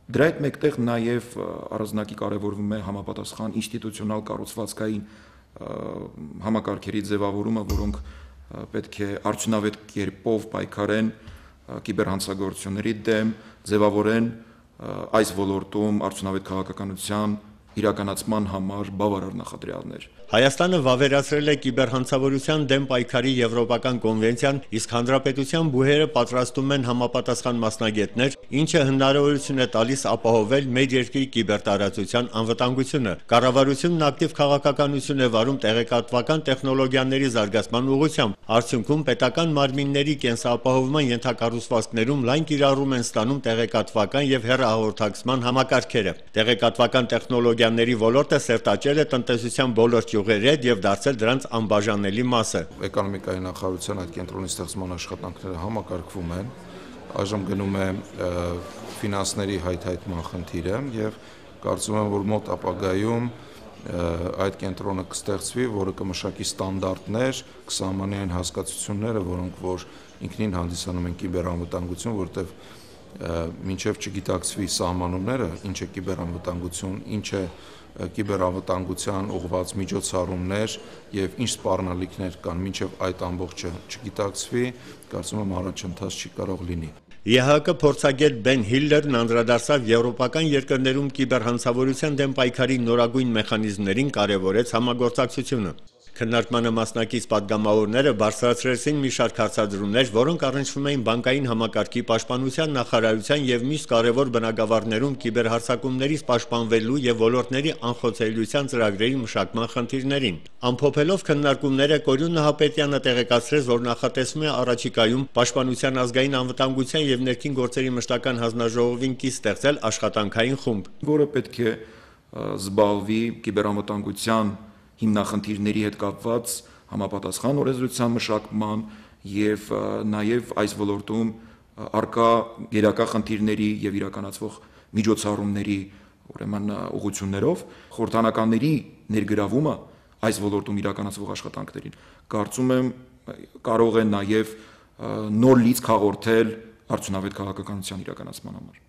Դրա հետ մեկտեղ նաև առանձնակի կարևորվում է համապատասխան ինստիտուցիոնալ կառուցվածքային համակարգերի ձևավորումը, որոնք պետք է արդյունավետ կերպով պայքարեն կիբերհանցագործությունների դեմ, ձևավորեն այս ոլորտում արդյունավետ քաղաքականության իրականացման համար բավարար նախադրյալներ։ Հայաստանը վավերացրել է կիբերհանցավորության դեմ պայքարի եվրոպական կոնվենցիան, իսկ հանրապետության բուհերը պատրաստում են համապատասխան մասնագետներ, ինչը հնարավորություն է տալիս ապահովել մեր երկրի կիբերտարածության անվտանգությունը։ Կառավարությունն ակտիվ քաղաքականություն է վարում տեղեկատվական տեխնոլոգիաների զարգացման ուղղությամբ։ Արդյունքում պետական մարմինների կենսապահովման ենթակառուցվածքներում լայն կիրառում են ստանում տեղեկատվական եւ հեռահաղորդակցման համակարգերը։ Տեղեկատվական տեխնոլոգիաների ոլորտը սերտաճել է տնտեսության բոլոր ճյուղերի հետ եւ դարձել դրանց անբաժանելի մասը։ Էկոնոմիկայի նախարարության այդ կենտրոնի ստեղծման աշխատանքները համակարգվում են։ Այժմ գնում է ֆինանսների հայթայթման խնդիրը եւ կարծում եմ, որ մոտ ապագայում այդ կենտրոնը կստեղծվի, որը կմշակի ստանդարտներ, կսահմանի այն հասկացությունները, որոնք որ ինքնին հանդիսանում են կիբերանվտանգություն, որտեղ մինչև չգիտակցվի սահմանումները, ինչ է կիբերանվտանգություն, ինչ է կիբերանվտանգության ուղղված միջոցառումներ եւ ինչ սպառնալիքներ կան, մինչև այդ ամբողջը չգիտակցվի, կարծում եմ առաջընթաց չի կարող լինի։ Է Հ Կ փորձագետ Բեն Հիլլերն անդրադարձավ եվրոպական երկրներում կիբերհանցավորության դեմ պայքարի նորագույն մեխանիզմներին, կարևորեց համագործակցությունը։ Քննարկմանը մասնակից պատգամավորները բարձրացրեցին մի շարք հարցադրումներ, որոնք առնչվում էին բանկային համակարգի պաշտպանության նախարարության եւ մյուս կարևոր բնագավառներում կիբերհարձակումներից պաշտպանվելու եւ ոլորտների անխոցելիության ծրագրերի մշակման խնդիրներին։ Ամփոփելով քննարկումները Կորյուն Նահապետյանը տեղեկացրեց, որ նախատեսվում է առաջիկայում պաշտպանության ազգային անվտանգության եւ ներքին գործերի մշտական հանձնաժողովին կից ստեղծել աշխատանքային խումբ, որը պետք է զբաղվի կիբերանվտանգության հիմնախնդիրների հետ կապված համապատասխան օրենսդրության մշակման եւ նաեւ այս ոլորտում արկա գերակա խնդիրների եւ իրականացվող միջոցառումների ուրեմն ուղղություններով խորհրդանականների ներգրավումը այս ոլորտում իրականացվող աշխատանքներին կարծում եմ կարող է նաեւ նոր լիցք հաղորդել արդյունավետ քաղաքականության իրականացման համար։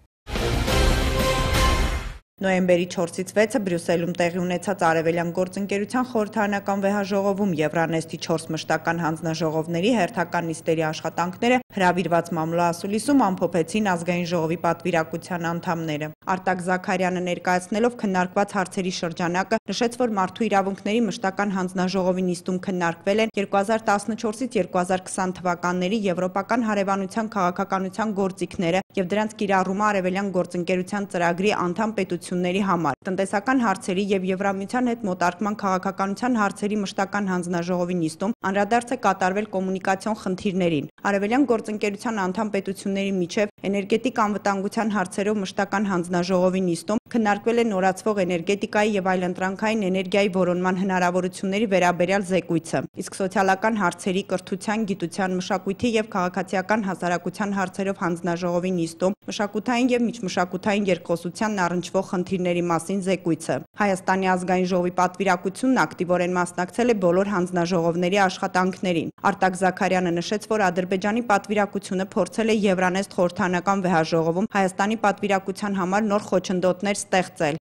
Նոյեմբերի չորսից վեցը Բրյուսելում տեղի ունեցած Արևելյան գործընկերության խորհրդարանական վեհաժողովում Եվրանեստի չորս մշտական հանձնաժողովների հերթական նիստերի աշխատանքները հրավիրված մամլոասուլիսում ամփոփեցին Ազգային ժողովի պատվիրակության անդամները։ Արտակ Զաքարյանը ներկայացնելով քննարկված հարցերի շրջանակը նշեց, որ մարդու իրավունքների մշտական հանձնաժողովի նիստում քննարկվել են երկու հազար տասնչորսից երկու հազար քսան թվականների եվրոպական հարևանության քաղաքականության գործիքները եւ դրանց կիրառումը Արևելյան գործընկերության ծրագրի անդամ պետությունների պետությունների համար, տնտեսական հարցերի եւ Եվրամիության հետ մոտարկման քաղաքականության հարցերի մշտական հանձնաժողովի նիստում անդրադարձ է կատարվել կոմունիկացիոն խնդիրներին։ Արևելյան գործընկերության անդամ պետությունների միջև էներգետիկ անվտանգության հարցերով մշտական հանձնաժողովի նիստում քննարկվել է նորացվող էներգետիկայի եւ այլընտրանքային էներգիայի որոնման հնարավորությունների վերաբերյալ զեկույցը, իսկ սոցիալական հարցերի, կրթության, գիտության, մշակույթի եւ քաղաքացիական հասարակության հարցերով հանձնաժողովի նիստում մշակութային եւ միջմշակութային երկխոսությանն առնչվող խնդիրների մասին զեկույցը։ Հայաստանի ազգային ժողովի պատվիրակությունն ակտիվորեն մասնակցել է բոլոր հանձնաժողովների աշխատանքներին։ Արտակ Զաքարյանը նշեց, որ Ադրբեջանի պատվիրակությունը փորձել է Եվրանեստ խորհրդանական վեհաժողովում Հայաստանի պատվիրակության համար նոր խոչընդոտներ ստեղծել։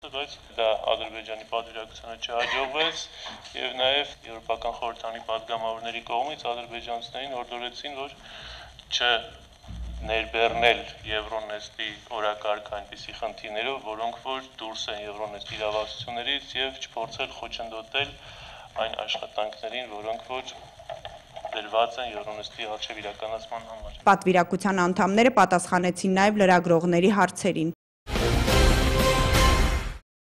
Բայց դա Ադրբեջանի պատվիրակությանը չհաջողվեց եւ նաեւ եվրոպական խորհրդանի падգամավորների կողմից ադրբեջանցիներին օրդորեցին, որ չ ներբեռնել Եվրոնեստի օրակարգ այնպիսի խնդիրներով, որոնք որ դուրս են Եվրոնեստի իրավասություններից եւ չփորձել խոչընդոտել այն աշխատանքներին, որոնք որ դրված են Եվրոնեստի արժեվ իրականացման համար։ Պատվիրակության անդամները պատասխանեցին նաեւ լրագրողների հարցերին։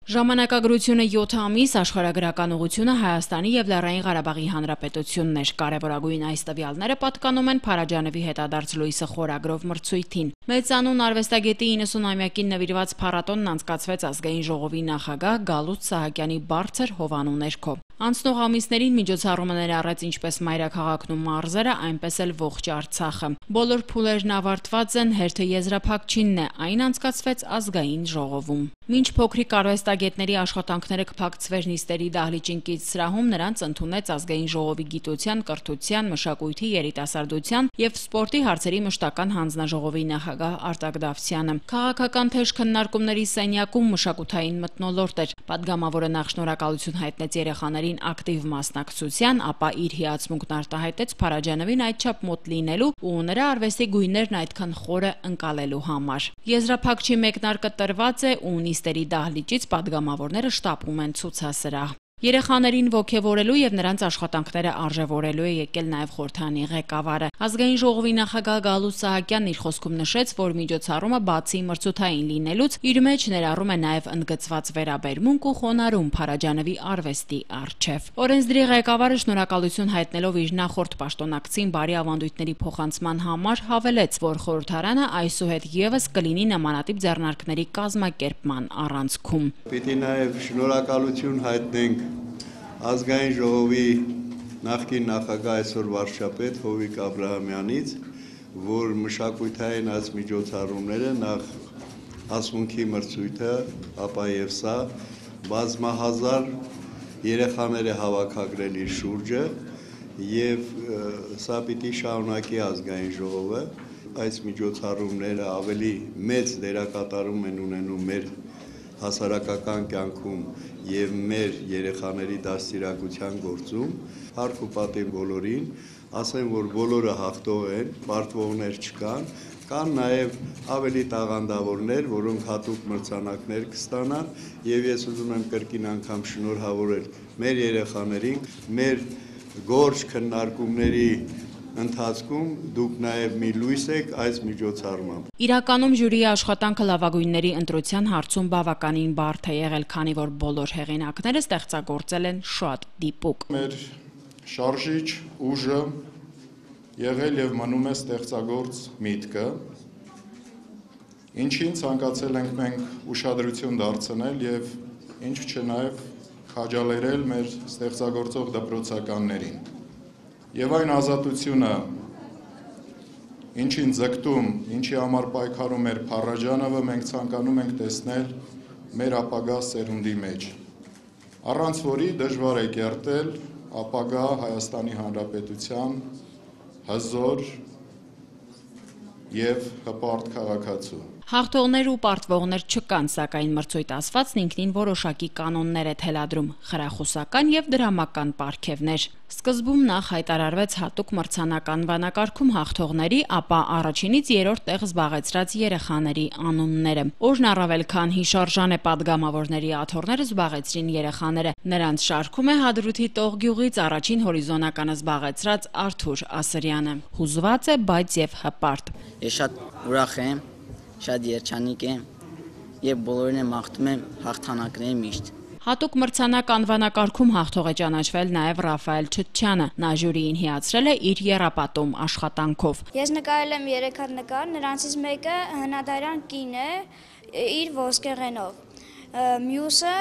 Ժամանակագրությունը յոթ ամիս աշխարհագրական ուղղությունը Հայաստանի եւ Լեռնային Ղարաբաղի Հանրապետությունն էր։ Կարևորագույն այս տվյալները պատկանում են Փարաջանովի հետադարձ լույսը խորագրով մրցույթին։ Մեծանուն արվեստագետի իննսունամյակին նվիրված փառատոնն անցկացվեց ազգային ժողովի նախագահ Գալուստ Սահակյանի բարձր հովանու ներքո։ Անցնող ամիսներին միջոցառումը ներառեց ինչպես մայրաքաղաքն ու մարզերը, այնպես էլ ողջ Արցախը։ Բոլոր փուլերն ավարտված են, հերթը եզրափակչինն է, այն անցկացվեց ազգային ժողովում։ Մինչ փոքրիկ արվեստագետների աշխատանքները կփակցվեր նիստերի դահլիճին կից սրահում, նրանց ընդունեց ազգային ժողովի գիտության, կրթության, մշակույթի, երիտասարդության եւ սպորտի հարցերի մշտական հանձնաժողովի նախագահ Արտակ Դավթյանը։ Քաղաքական թեժ քննարկումների սենյակում մշակութային մթնոլորտ էր։ Պատգամավորը նախ շնորհակալություն հայտնեց երեխաներին ակտիվ մասնակցության, ապա իր հիացմունքն արտահայտեց Փարաջանովին այդչափ մոտ լինելու ու նրա արվեստի գույներն այդքան խորը ընկալելու համար։ Եզրափակչի մեկնարկը տրված է ու նիստերի դահլիճից պատգամավորները շտապում են ցուցասրահ։ Երեխաներին ոգևորելու եւ նրանց աշխատանքները արժեվորելու է եկել նաեւ խորհրդանի ղեկավարը։ Ազգային ժողովի նախագահ Գալուստ Սահակյանն իր խոսքում նշեց, որ միջոցառումը բացի մրցութային լինելուց իր մեջ ներառում է նաեւ ընդգծված վերաբերմունք ու խոնարհում Փարաջանովի արվեստի առջև։ Օրենսդրի ղեկավարը շնորհակալություն հայտնելով իր նախորդ պաշտոնակցին բարի ավանդույթների փոխանցման համար հավելեց, որ խորհրդարանը այսուհետ եւս կլինի նմանատիպ ձեռնարկների կազմակերպման առանցքում։ Պիտի նաեւ շնորհակալություն հայտնենք ազգային ժողովի նախկին նախագահ այսօր վարչապետ Հովիկ Աբրահամյանից, որ մշակութային այս միջոցառումները նախ ասմունքի մրցույթը, ապա եւ սա բազմահազար երեխաներ է հավաքագրել իր շուրջը եւ սա պիտի շարունակի ազգային ժողովը։ Այս միջոցառումները ավելի մեծ դերակատարում են ունենում մեր հասարակական կյանքում եւ մեր երեխաների դաստիարակության գործում, հարկ ու պատիվ բոլորին, ասեմ, որ բոլորը հաղթող են, պարտվողներ չկան, կան նաեւ ավելի տաղանդավորներ, որոնք հատուկ մրցանակներ կստանան, եւ ես ուզում եմ կրկին անգամ շնորհավորել մեր երեխաներին, մեր գործ քննարկումների ընթացքում դուք նաև մի լույս եք այս միջոցառմամբ։ Իրականում ժյուրիի աշխատանքը լավագույնների ընտրության հարցում բավականին բարդ է եղել, քանի որ բոլոր հեղինակները ստեղծագործել են շատ դիպուկ։ Մեր շարժիչ ուժը եղել եւ մնում է ստեղծագործ միտքը, ինչին ցանկացել ենք մենք ուշադրություն դարձնել եւ ինչ չէ նաև քաջալերել մեր ստեղծագործող դպրոցականներին։ Եվ այն ազատությունը, ինչին ձգտում, ինչի համար պայքարում էր Փարաջանովը, մենք ցանկանում ենք տեսնել մեր ապագա սերունդի մեջ, առանց որի դժվար է կերտել ապագա Հայաստանի Հանրապետության հզոր եւ հպարտ քաղաքացու։ Հաղթողներ ու պարտվողներ չկան, սակայն մրցույթ ասվածն ինքնին որոշակի կանոններ է թելադրում, խրախուսական եւ դրամական պարգևներ։ Սկզբում նախ հայտարարվեց հատուկ մրցանական վանակարգում հաղթողների, ապա առաջինից երրորդ տեղ զբաղեցրած երեխաների անունները։ Օրն առավել քան հիշարժան է падգամավորների աթոռները զբաղեցրին երեխաները։ Նրանց շարքում է Հադրութի Տողգյուղից առաջին հորիզոնականը զբաղեցրած Արթուր Ասրյանը։ Հուզված է, բայց եւ հպարտ։ Ես շատ ուրախ եմ, շատ երջանիկ եմ եւ բոլորին եմ մաղթում եմ հաղթանակների միշտ։ Հատուկ մրցանակ անվանակարգում հաղթող է ճանաչվել նաև Ռաֆայել Չտչյանը։ Նա ժյուրիին հիացրել է իր եռապատում աշխատանքով։ Ես նկարել եմ երեք հատ նկար, նրանցից մեկը հնադարյան կին է իր ոսկեղենով։ Մյուսը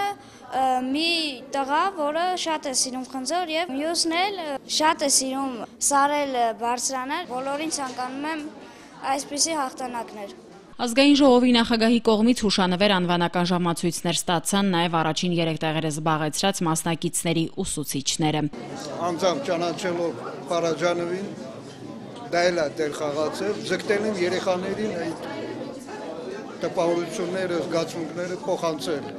մի տղա, որը շատ է սիրում խնձոր եւ մյուսն էլ շատ է սիրում սարել բարձրանալ։ Բոլորին ցանկանում եմ այսպիսի հաղթանակներ։ Ազգային ժողովի նախագահի կողմից հուշանվեր անվանական ժամացույցներ ստացան նաև առաջին երեք տեղերը զբաղեցրած մասնակիցների ուսուցիչները։ Անձամբ ճանաչելով Փարաջանովին, դա էլ է դեր խաղացել, ձգտել եմ երեխաներին այդ տպավորությունները, զգացմունքները փոխանցել։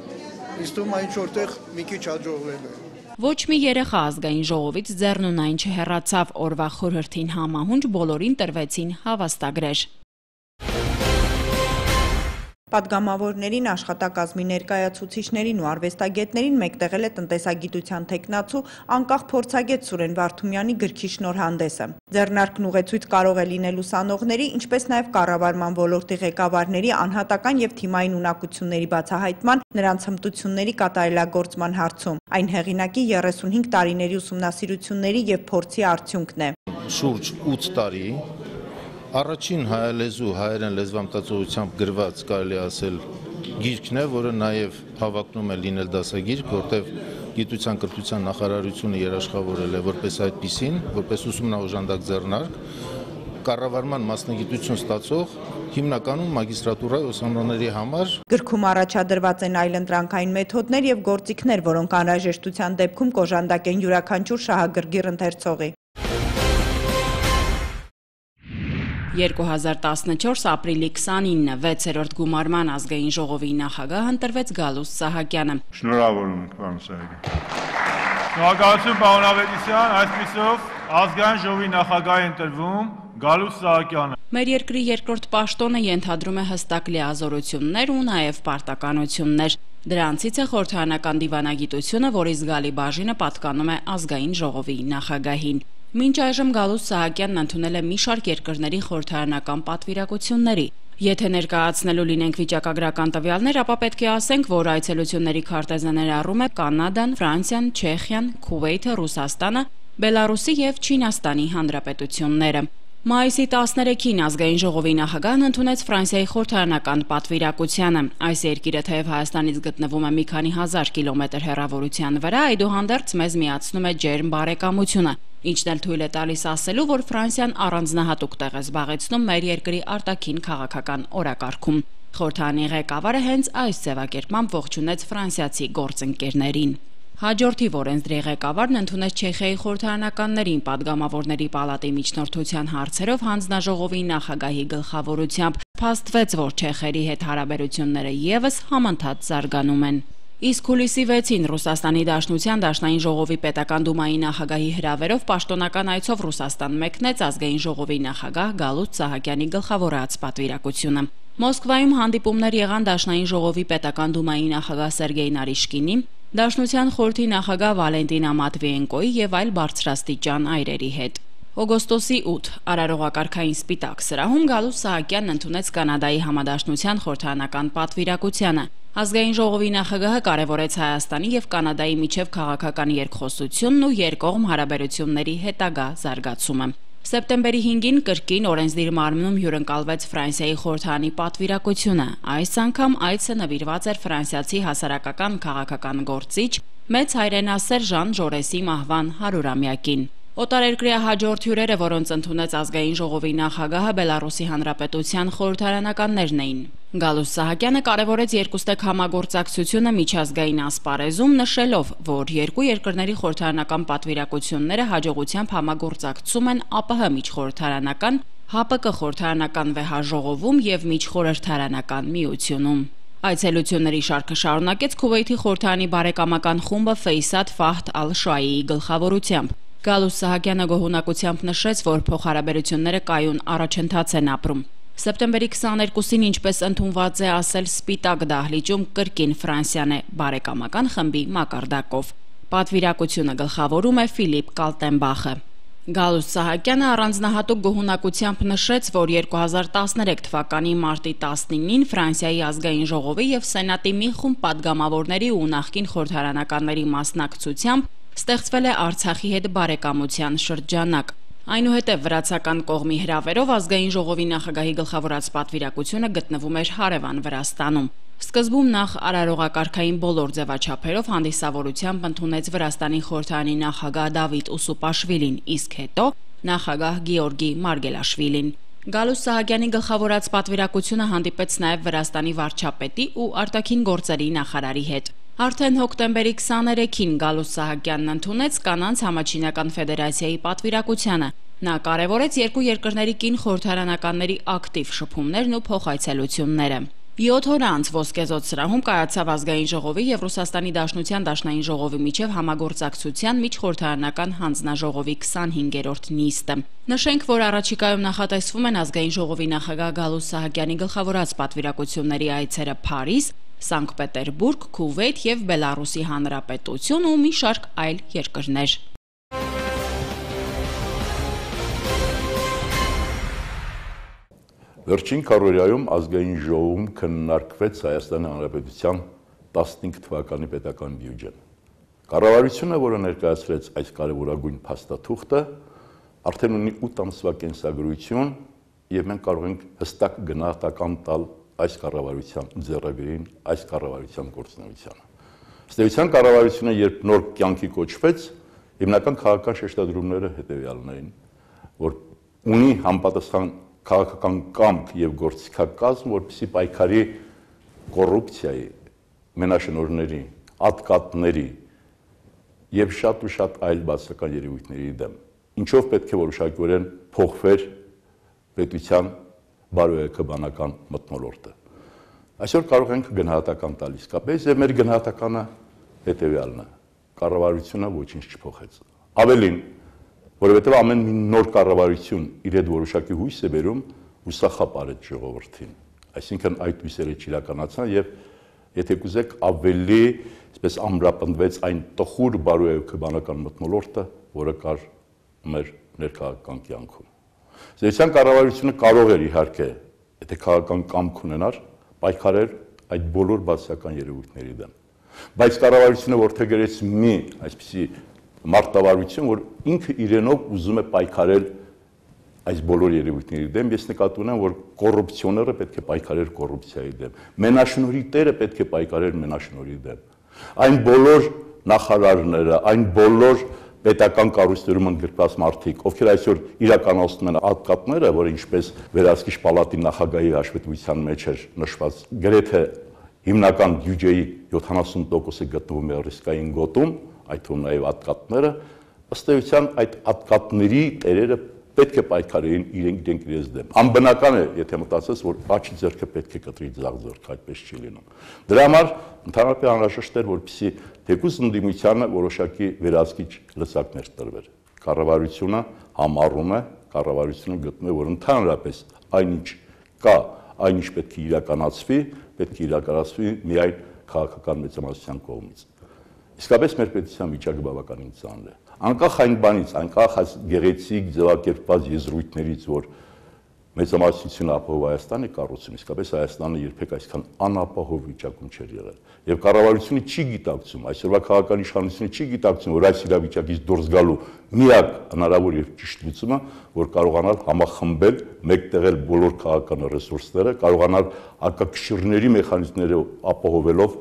Իսկ ում այն որտեղ մի քիչ հաջողվել է։ Ոչ մի երեխա ազգային ժողովից ձեռնունայն չհեռացավ, օրվա խորհրդին համահունչ բոլորին տրվեցին հավաստագրեր։ Պատգամավորներին, աշխատակազմի ներկայացուցիչներին ու արվեստագետներին մեկտեղել է տնտեսագիտության թեկնածու անկախ փորձագետ Սուրեն Վարդումյանի գրքի շնորհանդեսը։ Ձեռնարկն ուղեցույց կարող է լինել ուսանողների, ինչպես նաև կառավարման ոլորտի ղեկավարների անհատական եւ թիմային ունակությունների բացահայտման, նրանց հմտությունների կատարելագործման հարցում։ Այն հեղինակի երեսունհինգ տարիների ուսումնասիրությունների եւ փորձի արդյունքն է։ Շուրջ ութ տարի Առաջին հայալեզու հայերեն լեզվամտածողությամբ գրված կարելի ասել գիրքն է, որը նաև հավակնում է լինել դասագիրք, որտեղ գիտության կրթության նախարարությունը երաշխավորել է որպես այդպիսին, որպես ուսումնաօժանդակ ձեռնարկ, կառավարման մասնագիտություն ստացող հիմնականում մագիստրատուրայի ուսանողների համար։ Գրքում առաջադրված են այլընտրանքային մեթոդներ եւ գործիքներ, որոնք անհրաժեշտության դեպքում կոժանդակ են յուրաքանչյուր շահագրգիռ ընթերցողի։ երկու հազար տասնչորս ապրիլի քսանինը վեցերորդ գումարման ազգային ժողովի նախագահ ընտրվեց Գալուստ Սահակյանը։ Շնորհավորում ենք, պարոն Սահակյան։ Շնորհակալություն, պարոն Ավետիսյան, այսպիսով ազգային ժողովի նախագահ է ընտրվում Գալուստ Սահակյանը։ Մեր երկրի երկրորդ պաշտոնը ենթադրում է հստակ լիազորություններ ու նաև պարտականություններ։ Դրանցից է խորհրդարանական դիվանագիտությունը, որի զգալի բաժինը պատկանում է ազգային ժողովի նախագահին։ Մինչ այժմ Գալուստ Սահակյանն ընդունել է մի շարք երկրների խորհրդարանական պատվիրակությունների։ Եթե ներկայացնելու լինենք վիճակագրական տվյալներ, ապա պետք է ասենք, որ այցելությունների քարտեզը ներառում է Կանադան, Ֆրանսիան, Չեխիան, Քուվեյթը, Ռուսաստանը, Բելարուսի եւ Չինաստանի հանրապետությունները։ Մայիսի տասներեքին ազգային ժողովի նախագահն ընդունեց Ֆրանսիայի խորհրդարանական պատվիրակությանը։ Այս երկիրը թեև Հայաստանից գտնվում է մի քանի հազար կիլոմետր հեռավորության վրա, այդուհանդերձ մեզ միացնում է ջերմ բարեկամությունը, ինչն էլ թույլ է տալիս ասելու, որ Ֆրանսիան առանձնահատուկ տեղ է զբաղեցնում մեր երկրի արտաքին քաղաքական օրակարգում։ Խորհրդարանի ղեկավարը հենց այս ձևակերպմամբ ողջունեց ֆրանսիացի գործընկերներին։ Հաջորդիվ օրենսդրի ղեկավարն ընդունեց Չեխիայի խորհրդարանականներին падգամավորների պալատի միջնորդության հարցերով հանձնաժողովի նախագահի գլխավորությամբ։ Փաստվեց, որ չեխերի հետ հարաբերությունները ևս համընթաց զարգանում են։ Իսկ հուլիսի վեցին Ռուսաստանի Դաշնության Դաշնային ժողովի պետական դումայի նախագահի հրավերով պաշտոնական այցով Ռուսաստան մեկնեց ազգային ժողովի նախագահ Գալուստ Սահակյանի գլխավորած պատվիրակությունը։ Մոսկվայում հանդիպումներ եղան Դաշնային ժողովի պետական դումայի նախագահ Սերգեյ Նարիշկինի, Դաշնության խորհրդի նախագահ Վալենտինա Մատվիենկոյի եւ այլ բարձրաստիճան այրերի հետ։ Օգոստոսի ութ արարողակարգային սպիտակ սրահում Գալուստ Սահակյանն ընդունեց Կանադայի համադաշնության խորհրդարանական պատվիրակությանը։ Ազգային ժողովի նախագահը կարևորեց Հայաստանի եւ Կանադայի միջև քաղաքական երկխոսությունն ու երկկողմ հարաբերությունների հետագա զարգացումը։ Սեպտեմբերի հինգին կրկին օրենսդիր մարմնում հյուրընկալվեց Ֆրանսիայի խորհրդարանի պատվիրակությունը։ Այս անգամ այցը նվիրված էր ֆրանսիացի հասարակական քաղաքական գործիչ մեծ հայրենասեր Ժան Ժորեսի մահվան հարյուրամյակին։ Օտարերկրյա հաջորդ հյուրերը, որոնց ընդունեց ազգային ժողովի նախագահը, Բելարուսի հանրապետության խորհրդարանականներն էին։ Գալուստ Սահակյանը կարևորեց երկուստեք համագործակցությունը միջազգային ասպարեզում, նշելով, որ երկու երկրների խորհրդարանական պատվիրակությունները հաջողությամբ համագործակցում են ԱՊՀ միջխորհրդարանական, ՀԱՊԿ խորհրդարանական վեհաժողովում եւ միջխորհրդարանական միությունում։ Այցելությունների շարքը շարունակեց Քուվեյթի խորհրդարանի բարեկամական խումբը Ֆեյսաթ Ֆահդ Ալ-Շուայիի գլխավորությամբ։ Գալուստ Սահակյանը գոհունակությամբ նշեց, որ փոխհարաբերությունները կայուն առաջընթաց են ապրում։ Սեպտեմբերի քսաներկուսին, ինչպես ընդունված է ասել, Սպիտակ դահլիճում կրկին Ֆրանսիան է բարեկամական խմբի մակարդակով։ Պատվիրակությունը գլխավորում է Ֆիլիպ Կալտենբախը։ Գալուստ Սահակյանը առանձնահատուկ գոհունակությամբ նշեց, որ երկու հազար տասներեք թվականի մարտի տասնինին Ֆրանսիայի ազգային ժողովի եւ Սենատի մի խումբ падգամավորների ու նախկին խորհրդարանականների մասնակցությամբ ստեղծվել է Արցախի հետ բարեկամության շրջանակ։ Այնուհետև վրացական կողմի հրավերով ազգային ժողովի նախագահի գլխավորած պատվիրակությունը գտնվում էր հարևան Վրաստանում։ Սկզբում նախ արարողակարգային բոլոր ձևաչափերով հանդիսավորությամբ ընդունեց Վրաստանի խորհրդարանի նախագահ Դավիթ Ուսուպաշվիլին, իսկ հետո նախագահ Գեորգի Մարգելաշվիլին։ Գալուստ Սահակյանի գլխավորած պատվիրակությունը հանդիպեց նաև Վրաստանի վարչապետի ու արտաքին գործերի նախարարի հետ։ Արդեն հոկտեմբերի քսաներեքին Գալուստ Սահակյանն ընդունեց Կանանց համաչինական ֆեդերացիայի պատվիրակությանը։ Նա կարևորեց երկու երկրների կին խորհրդարանականների ակտիվ շփումներն ու փոխայցելությունները։ Յոթ օր անց Ոսկեզօծ սրահում կայացավ ազգային ժողովի եւ Ռուսաստանի Դաշնության Դաշնային ժողովի միջև համագործակցության միջխորհրդարանական հանձնաժողովի քսանհինգերորդ նիստը։ Նշենք, որ առաջիկայում նախատեսվում են ազգային ժողովի նախագահ Գալուստ Սահակյանի գլխավորած պատվիրակությունների այցերը Փարիզ, Սանկտ Պետերբուրգ, Քուվեյթ եւ Բելարուսի Հանրապետություն ու մի շարք այլ երկրներ։ Վերջին քառորյայում ազգային ժողովում քննարկվեց Հայաստանի Հանրապետության տասնհինգ թվականի պետական բյուջեն։ Կառավարությունը, որը ներկայացրեց այս կարևորագույն փաստաթուղթը, արդեն ունի ութ ամսվա կենսագրություն եւ մենք կարող ենք հստակ գնահատական տալ այս կառավարության ձեռագրին, այս կառավարության գործունեությանը։ Ըստ էության կառավարությունը, երբ նոր կյանքի կոչվեց, հիմնական քաղաքական շեշտադրումները հետեւյալն էին, որ ունի համապատասխան քաղաքական կամք եւ գործիքակազմ, որպեսզի պայքարի կոռուպցիայի, մենաշնորհների, ատկատների եւ շատ ու շատ այլ բացական երևույթների դեմ։ Ինչով պետք է որոշակիորեն փոխվեր պետության բարոյաքաբանական մթնոլորտը։ Այսօր կարող ենք գնահատական տալ իսկապես եւ մեր գնահատականը հետեւյալն է. կառավարությունը ոչինչ չփոխեց։ Ավելին, որովհետև ամեն մի նոր կառավարություն իր հետ որոշակի հույս է բերում հուսախապ արեց ժողովրդին։ Այսինքն այդ հույսերը չիրականացան եւ եթե կուզեք ավելի, այսպես ամրապնդվեց այն տխուր բարոյաքաբանական մթնոլորտը, որը կար մեր ներքաղաքական կյանքում։ Զերծյան կառավարությունը կարող էր իհարկե, եթե քաղաքական կամք ունենար, պայքարել այդ բոլոր բացասական երևույթների դեմ։ Բայց կառավարությունը որդեգրեց մի այսպիսի մարտավարություն, որ ինքը իրենով ուզում է պայքարել այս բոլոր երևույթների դեմ, ես նկատի ունեմ, որ կոռուպցիոները պետք է պայքարել կոռուպցիայի դեմ, մենաշնորհի տերը պետք է պայքարել մենաշնորհի դեմ։ Այն բոլոր նախարարները, այն բոլոր պետական կառույցներում ընդգրկված մարդիկ, ովքեր այսօր իրականացնում են ատկատները, որը ինչպես Վերահսկիչ պալատի նախագահի հաշվետվության մեջ էր նշված, գրեթե հիմնական բյուջեի յոթանասուն տոկոսը գտնվում է ռիսկային գոտում, այդ թվում նաև ատկատները, ըստ էության այդ ատկատների տերերը պետք է պայքարեին իրենք իրենց դեմ։ Անբնական է, եթե մտածես, որ աչի ձեռքը պետք է կտրի ձախ ձեռքը, այդպես չի լինում։ Դրա համար ընդհանրապես անհրաժեշտ էր, որպեսզի թեկուզ ընդդիմությանը որոշակի վերահսկիչ լծակներ տրվեր։ Կառավարությունը համառում է, կառավարությունը գտնում է, որ ընդհանրապես այնինչ կա, այնինչ պետք է իրականացվի, պետք է իրականացվի միայն քաղաքական մեծամասնության կողմից։ Իսկապես մեր պետության վիճակը բավականին ծանր է։ Անկախ այն բանից, անկախ այս գեղեցիկ ձևակերպված եզրույթներից, որ մեծամասնությունը ապահով Հայաստան է կառուցում, իսկապես Հայաստանը երբեք այսքան անապահով վիճակում չէր եղել։ Եվ կառավարությունը չի գիտակցում, այսօրվա քաղաքական իշխանությունը չի գիտակցում, որ այս իրավիճակից դուրս գալու միակ հնարավոր եւ ճիշտ լուծումը, որ կարողանալ համախմբել, մեկտեղել բոլոր քաղաքական ռեսուրսները, կարողանալ արկակշիռների մեխանիզմները ապահովելով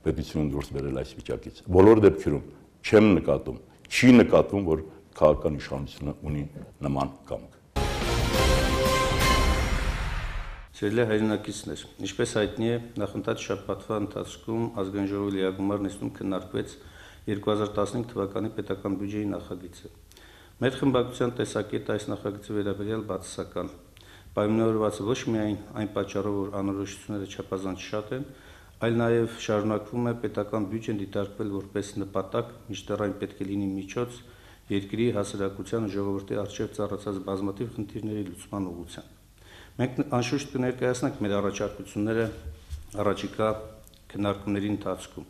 պետությունը դուրս բերել այս վիճակից։ Բոլոր դեպքերում չեմ նկատում, չի նկատվում, որ քաղաքական իշխանությունը ունի նման կամք։ Սիրելի հայրենակիցներ, ինչպես հայտնի է, նախընթաց շաբաթվա ընթացքում ազգային ժողովի լիագումար նիստում քննարկվեց երկու հազար տասնհինգ թվականի պետական բյուջեի նախագիծը։ Մեր խմբակցության տեսակետը այս նախագծի վերաբերյալ բացասական, պայմանավորված ոչ միայն այն պատճառով, որ անորոշությունները չափազանց շատ են, այլ նաև շարունակվում է պետական բյուջեն դիտարկվել որպես նպատակ, մինչդեռ այն պետք է լինի միջոց երկրի հասարակության ու ժողովրդի առջև ծառացած բազմաթիվ խնդիրների լուծման ուղղությամբ։ Մենք անշուշտ կներկայացնենք մեր առաջարկությունները առաջիկա քննարկումների ընթացքում,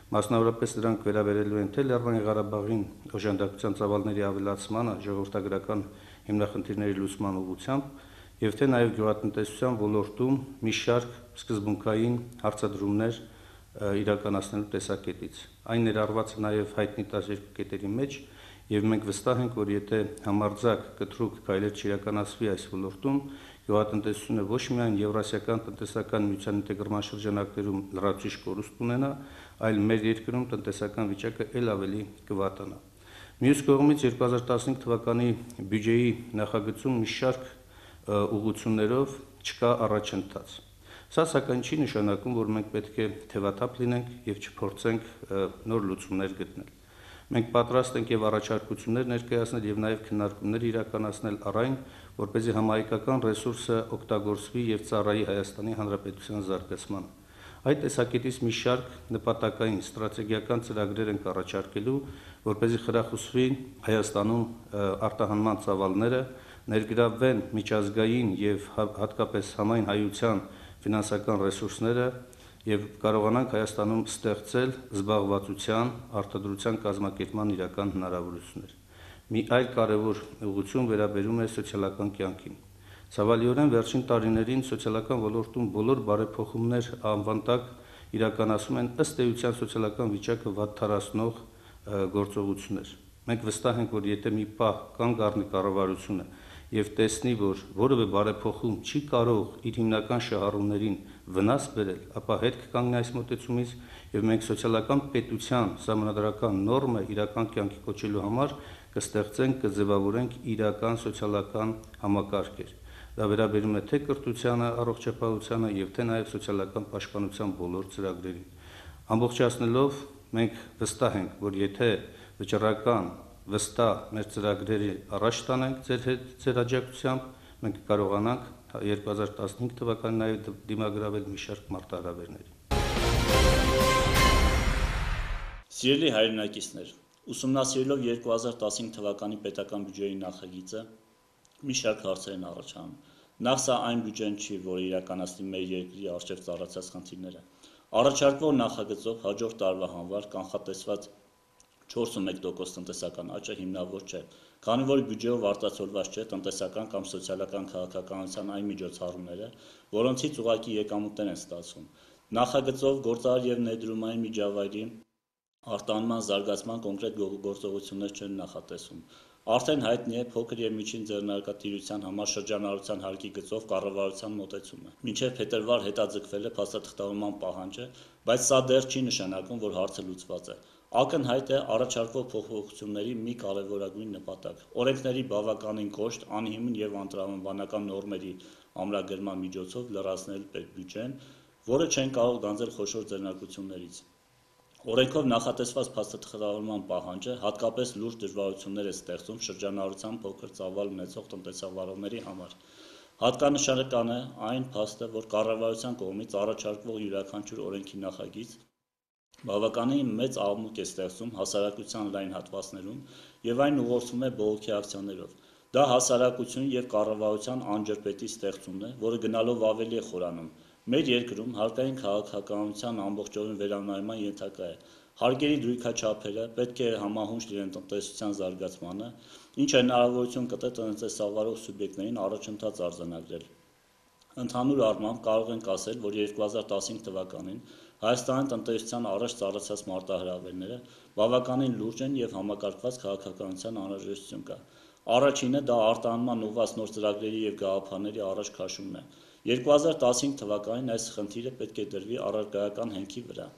Մասնավորապես դրանք վերաբերելու են թե Լեռնային Ղարաբաղին օժանդակության ծավալների ավելացմանը, ժողովրդագրական հիմնախնդիրների լուծման ուղղությամբ, եւ թե նաեւ գյուղատնտեսության ոլորտում մի շարք սկզբունքային հարցադրումներ իրականացնելու տեսակետից։ Այն ներառված է նաեւ հայտնի տասներկու կետերի մեջ, եւ մենք վստահ ենք, որ եթե համարձակ կտրուկ քայլեր չիրականացվի այս ոլորտում, գյուղատնտեսությունը ոչ միայն Եվրասիական տնտեսական միության ինտեգրման շրջանակներում լրացուցիչ կորուստ ունենա, այլ մեր երկրում տնտեսական վիճակը ել ավելի կվատանա։ Մյուս կողմից երկու հազար տասնհինգ թվականի բյուջեի նախագծում մի շարք ուղղություններով չկա առաջընթաց։ Սա սակայն չի նշանակում, որ մենք պետք է թևաթափ լինենք եւ չփորձենք նոր լուծումներ գտնել։ Մենք պատրաստ ենք եւ առաջարկություններ ներկայացնել եւ նաեւ քննարկումներ իրականացնել առայն, որպեսզի համահայկական ռեսուրսը օգտագործվի եւ ծառայի Հայաստանի Հանրապետության զարգացմանը։ Այդ տեսակետից մի շարք նպատակային ստրատեգիական ծրագրեր ենք առաջարկելու, որպեսզի խրախուսվի Հայաստանում արտահանման ծավալները, ներգրավվեն միջազգային եւ հատկապես համայն հայության ֆինանսական ռեսուրսները եւ կարողանանք Հայաստանում ստեղծել զբաղվածության, արտադրության կազմակերպման իրական հնարավորություններ։ Մի այլ կարևոր ուղղություն վերաբերում է սոցիալական կյանքին։ Ցավալիորեն վերջին տարիներին սոցիալական ոլորտում բոլոր բարեփոխումներ անվան տակ իրականացում են ըստ էության սոցիալական վիճակը վատթարացնող գործողություններ։ Մենք վստահ ենք, որ եթե մի պահ կանգ առնի կառավարությունը եւ տեսնի, որ որևէ բարեփոխում չի կարող իր հիմնական շահառուներին վնաս բերել, ապա հետ կկանգնի այս մոտեցումից եւ մենք սոցիալական պետության սահմանադրական նորմը իրական կյանքի կոչելու համար կստեղծենք, կձևավորենք իրական սոցիալական համակարգեր։ Դա վերաբերում է թե կրթությանը, առողջապահությանը եւ թե նաեւ սոցիալական պաշտպանության բոլոր ծրագրերին։ Ամբողջացնելով մենք վստահ ենք, որ եթե վճռական վստահ մեր ծրագրերի առաջ տանենք ձեր հետ ձեր աջակցությամբ, մենք կարողանանք երկու հազար տասնհինգ թվականին նաև դիմագրավել մի շարք մարտահրավերների։ Սիրելի հայրենակիցներ, ուսումնասիրելով երկու հազար տասնհինգ թվականի պետական բյուջեի նախագիծը, մի շարք հարցեր են առաջանում։ Նախ սա այն բյուջեն չի, որը իրականացնի մեր երկրի առջև ծառացած խնդիրները։ Առաջարկվող նախագծով հաջորդ տարվա համար կանխատեսված չորսունմեկ տոկոս տնտեսական աճը հիմնավոր չէ, քանի որ բյուջեով արտացոլված չէ տնտեսական կամ սոցիալական քաղաքականության այն միջոցառումները, որոնցից ուղղակի եկամուտներ են ստացվում։ Նախագծով գործարար եւ ներդրումային միջավայրի արտահանման զարգացման կոնկրետ գործողություններ չեն նախատեսվում։ Արդեն հայտնի է փոքր եւ միջին ձեռնարկատիրության համար շրջանառության հարկի գծով կառավարության մոտեցումը։ Մինչև փետրվար հետաձգվել է փաստաթղթավորման պահանջը, բայց սա դեռ չի նշանակում, որ հարցը լուծված է։ Ակնհայտ է առաջարկվող փոփոխությունների մի կարևորագույն նպատակ՝ օրենքների բավականին կոշտ, անհիմն եւ անտրամաբանական նորմերի ամրագրման միջոցով լրացնել բյուջեն, որը չեն կարող գանձել խոշոր ձեռնարկություններից։ Օրենքով նախատեսված փաստաթղթավորման պահանջը հատկապես լուրջ դժվարություններ է ստեղծում շրջանառության փոքր ծավալ ունեցող տնտեսավարողների համար։ Հատկանշական է այն փաստը, որ կառավարության կողմից առաջարկվող յուրաքանչյուր օրենքի նախագիծ բավականին մեծ աղմուկ է ստեղծում հասարակության լայն հատվածներում եւ այն ուղղորդվում է բողոքի ակցիաներով։ Դա հասարակություն եւ կառավարության անջրպետի ստեղծումն է, որը գնալով ավելի է խորանում։ Մեր երկրում հարկային քաղաքականության ամբողջովին վերանայման ենթակա է։ Հարկերի դրույքաչափերը պետք է համահունչ լինեն տնտեսության զարգացմանը, ինչը հնարավորություն կտա տնտեսավարող սուբյեկտներին առաջընթաց արձանագրել։ Ընդհանուր առմամբ կարող ենք ասել, որ երկու հազար տասնհինգ թվականին Հայաստանի տնտեսության առաջ ծառացած մարտահրավերները բավականին լուրջ են եւ համակարգված քաղաքականության անհրաժեշտություն կա։ Առաջինը դա արտահանման ուղղված նոր ծրագրերի եւ գաղափարների առաջ քաշումն է։ երկու հազար տասնհինգ թվականին այս խնդիրը պետք է դրվի առարկայական հենքի վրա։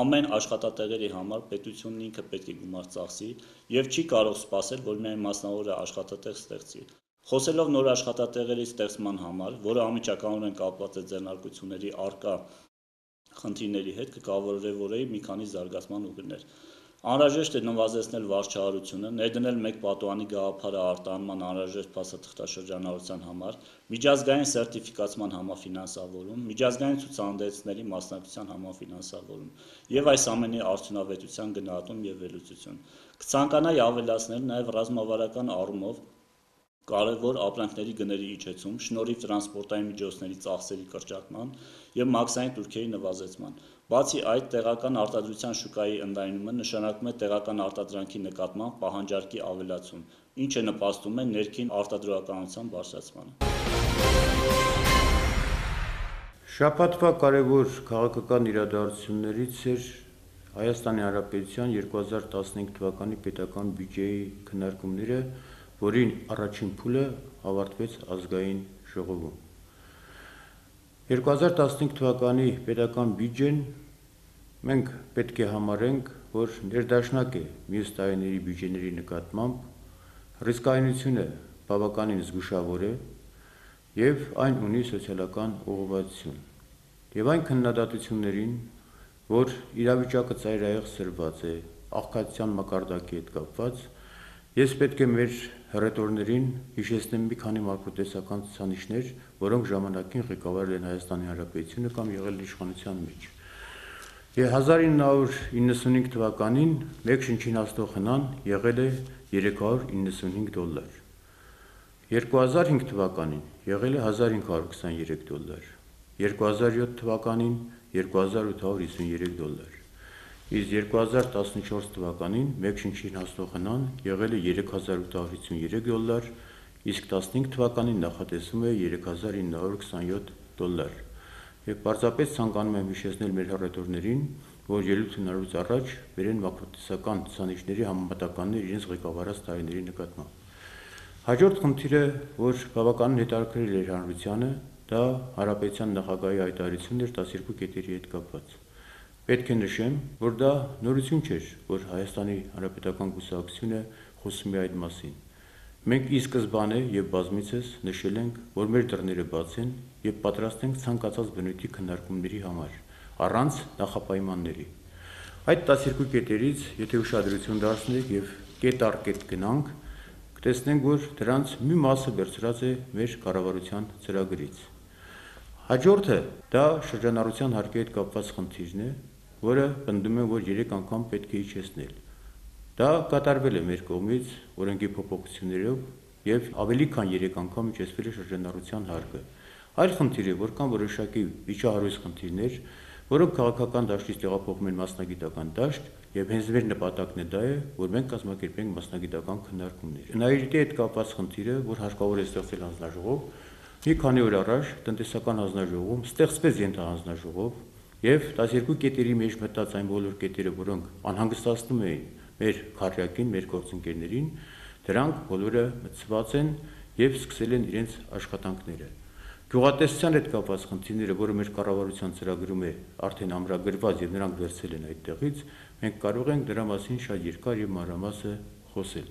Ամեն աշխատատեղերի համար պետությունն ինքը պետք է գումար ծախսի եւ չի կարող սպասել, որ միայն մասնավորը աշխատատեղ ստեղծի։ Խոսելով նոր աշխատատեղերի ստեղծման համար, որը անմիջականորեն կապված է ձեռնարկությունների առկա խնդիրների հետ, կկավորվորեի մի քանի զարգացման ուղիներ։ Անհրաժեշտ է նվազեցնել վարչահարությունը, ներդնել մեկ պատուհանի գաղափարը արտահանման անհրաժեշտ փաստաթղթաշրջանառության համար, միջազգային սերտիֆիկացման համաֆինանսավորում, միջազգային ցուցահանդեսների մասնակցության համաֆինանսավորում եւ այս ամենի արդյունավետության գնահատում եւ վերլուծություն։ Կցանկանայի ավելացնել նաեւ ռազմավարական առումով կարևոր ապրանքների գների իջեցում, շնորհիվ տրանսպորտային միջոցների ծախսերի կրճատման եւ մաքսային տուրքերի նվազեցման։ Բացի այդ, տեղական արտադրության շուկայի ընդլայնումը նշանակում է տեղական արտադրանքի նկատմամբ պահանջարկի ավելացում, ինչը նպաստում է ներքին արտադրողականության բարձրացմանը։ Շաբաթվա կարևոր քաղաքական իրադարձություններից էր Հայաստանի Հանրապետության երկու հազար տասնհինգ թվականի պետական բյուջեի քննարկումները, որին առաջին փուլը ավարտվեց ազգային ժողովում։ երկու հազար տասնհինգ թվականի պետական բյուջեն մենք պետք է համարենք, որ ներդաշնակ է մյուս տարիների բյուջեների նկատմամբ, ռիսկայնությունը բավականին զգուշավոր է եւ այն ունի սոցիալական ուղղվածություն։ Եվ այն քննադատություններին, որ իրավիճակը ծայրահեղ սրված է, աղքատության մակարդակի հետ կապված, ես պետք է մեր հռետորներին հիշեցնեմ մի քանի մակրոտեսական ցուցանիշներ, որոնք ժամանակին ղեկավարել են Հայաստանի Հանրապետությունը կամ եղել իշխանության մեջ։ հազար ինը հարյուր իննսունհինգ թվականին մեկ շնչին հասնող հնան եղել է երեք հարյուր իննսունհինգ դոլար։ երկու հազար հինգ թվականին եղել է հազար հինգ հարյուր քսաներեք դոլար։ երկու հազար յոթ թվականին երկու հազար ութ հարյուր հիսուներեք դոլար։ Իսկ երկու հազար տասնչորս թվականին մեկ շնչին հասնող հնան եղել է երեք հազար ութ հարյուր հիսուներեք դոլար, իսկ տասնհինգ թվականին նախատեսվում է երեք հազար ինը հարյուր քսայոթ դոլար։ Եվ պարզապես ցանկանում եմ հիշեցնել մեր հռետորներին, որ ելույթ ունենալուց առաջ վերեն մակրոտեսական ցուցանիշների համեմատականներ իրենց ղեկավարած տարիների նկատմամբ։ Հաջորդ խնդիրը, որ բավականին հետաքրքիր էր հանրությանը, դա Հանրապետության նախագահի հայտարարությունն էր տասներկու կետերի հետ կապված։ Պետք է նշեմ, որ դա նորություն չէր, որ Հայաստանի Հանրապետական կուսակցությունը խոսում է այդ մասին։ Մենք ի սկզբանե եւ բազմիցս նշել ենք, որ մեր դռները բաց են եւ պատրաստ ենք ցանկացած բնույթի քննարկումների համար, առանց նախապայմանների։ Այդ տասներկու կետերից, եթե ուշադրություն դարձնենք եւ կետ առ կետ գնանք, կտեսնենք, որ դրանց մի մասը վերցրած է մեր կառավարության ծրագրից։ Հաջորդը դա շրջանառության հարկի հետ կապված խնդիրն է, որը պնդում է, որ երեք անգամ պետք է իջեցնել։ Դա կատարվել է մեր կողմից օրենքի փոփոխություններով եւ ավելի քան երեք անգամ իջեցվել է շրջանառության հարկը։ Այլ խնդիր է, որ կան որոշակի վիճահարույց խնդիրներ, որոնք քաղաքական դաշտից տեղափոխում են մասնագիտական դաշտ, եւ հենց մեր նպատակն է դա է, որ մենք կազմակերպենք մասնագիտական քննարկումներ։ Նայիրիտի հետ կապված խնդիրը, որ հարկավոր է ստեղծել հանձնաժողով, մի քանի օր առաջ տնտեսական հանձնաժողովում ստեղծվեց ենթահանձնաժողով եւ տասներկու կետերի մեջ մտած այն բոլոր կետերը, որոնք անհանգստացնում էին մեր քարյակին, մեր գործընկերներին, դրանք բոլորը մտցված են եւ սկսել են իրենց աշխատանքները։ Գյուղատնտեսության հետ կապված խնդիրները, որը մեր կառավարության ծրագրում է արդեն ամրագրված եւ նրանք վերցել են այդտեղից, մենք կարող ենք դրա մասին շատ երկար եւ մանրամասը խոսել։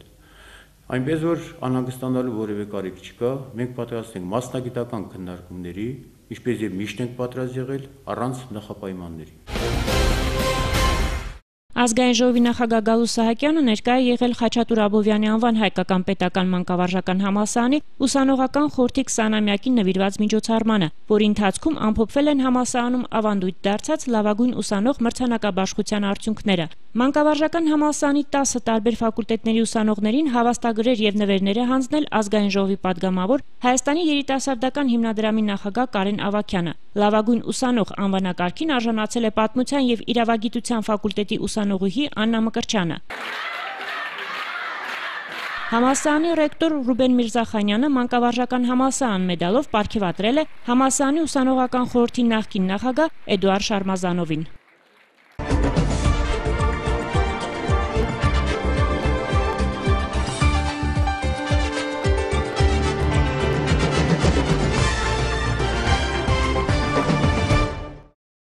Այնպես որ անհանգստանալու որևէ կարիք չկա, մենք պատրաստ ենք մասնագիտական քննարկումների, ինչպես եւ միշտ ենք պատրաստ եղել, առանց նախապայմանների։ Ազգային ժողովի նախագահ Գալուստ Սահակյանը ներկա է եղել Խաչատուր Աբովյանի անվան հայկական պետական մանկավարժական համալսարանի ուսանողական խորհրդի քսանամյակին նվիրված միջոցառմանը, որի ընթացքում ամփոփվել են համալսարանում ավանդույթ դարձած լավագույն ուսանող մրցանակաբաշխության արդյունքները։ Մանկավարժական համալսարանի տասը տարբեր ֆակուլտետների ուսանողներին հավաստագրեր եւ նվերներ է հանձնել Ազգային ժողովի падգամավոր Հայաստանի երիտասարդական հիմնադրամի նախագահ Կարեն Ավագյանը։ Լավագույն ուսանող անվանակարգին արժանացել է Պատմության եւ իրավագիտության ֆակուլտետի ուսանողուհի Աննա Մկրտչյանը։ Համալսարանի ռեկտոր Ռուբեն Միրզախանյանը մանկավարժական համալսարան մեդալով պարգևատրել է համալսարանի ուսանողական խորհրդի նախկին նախագահ Էդուարդ Շարմազանովին։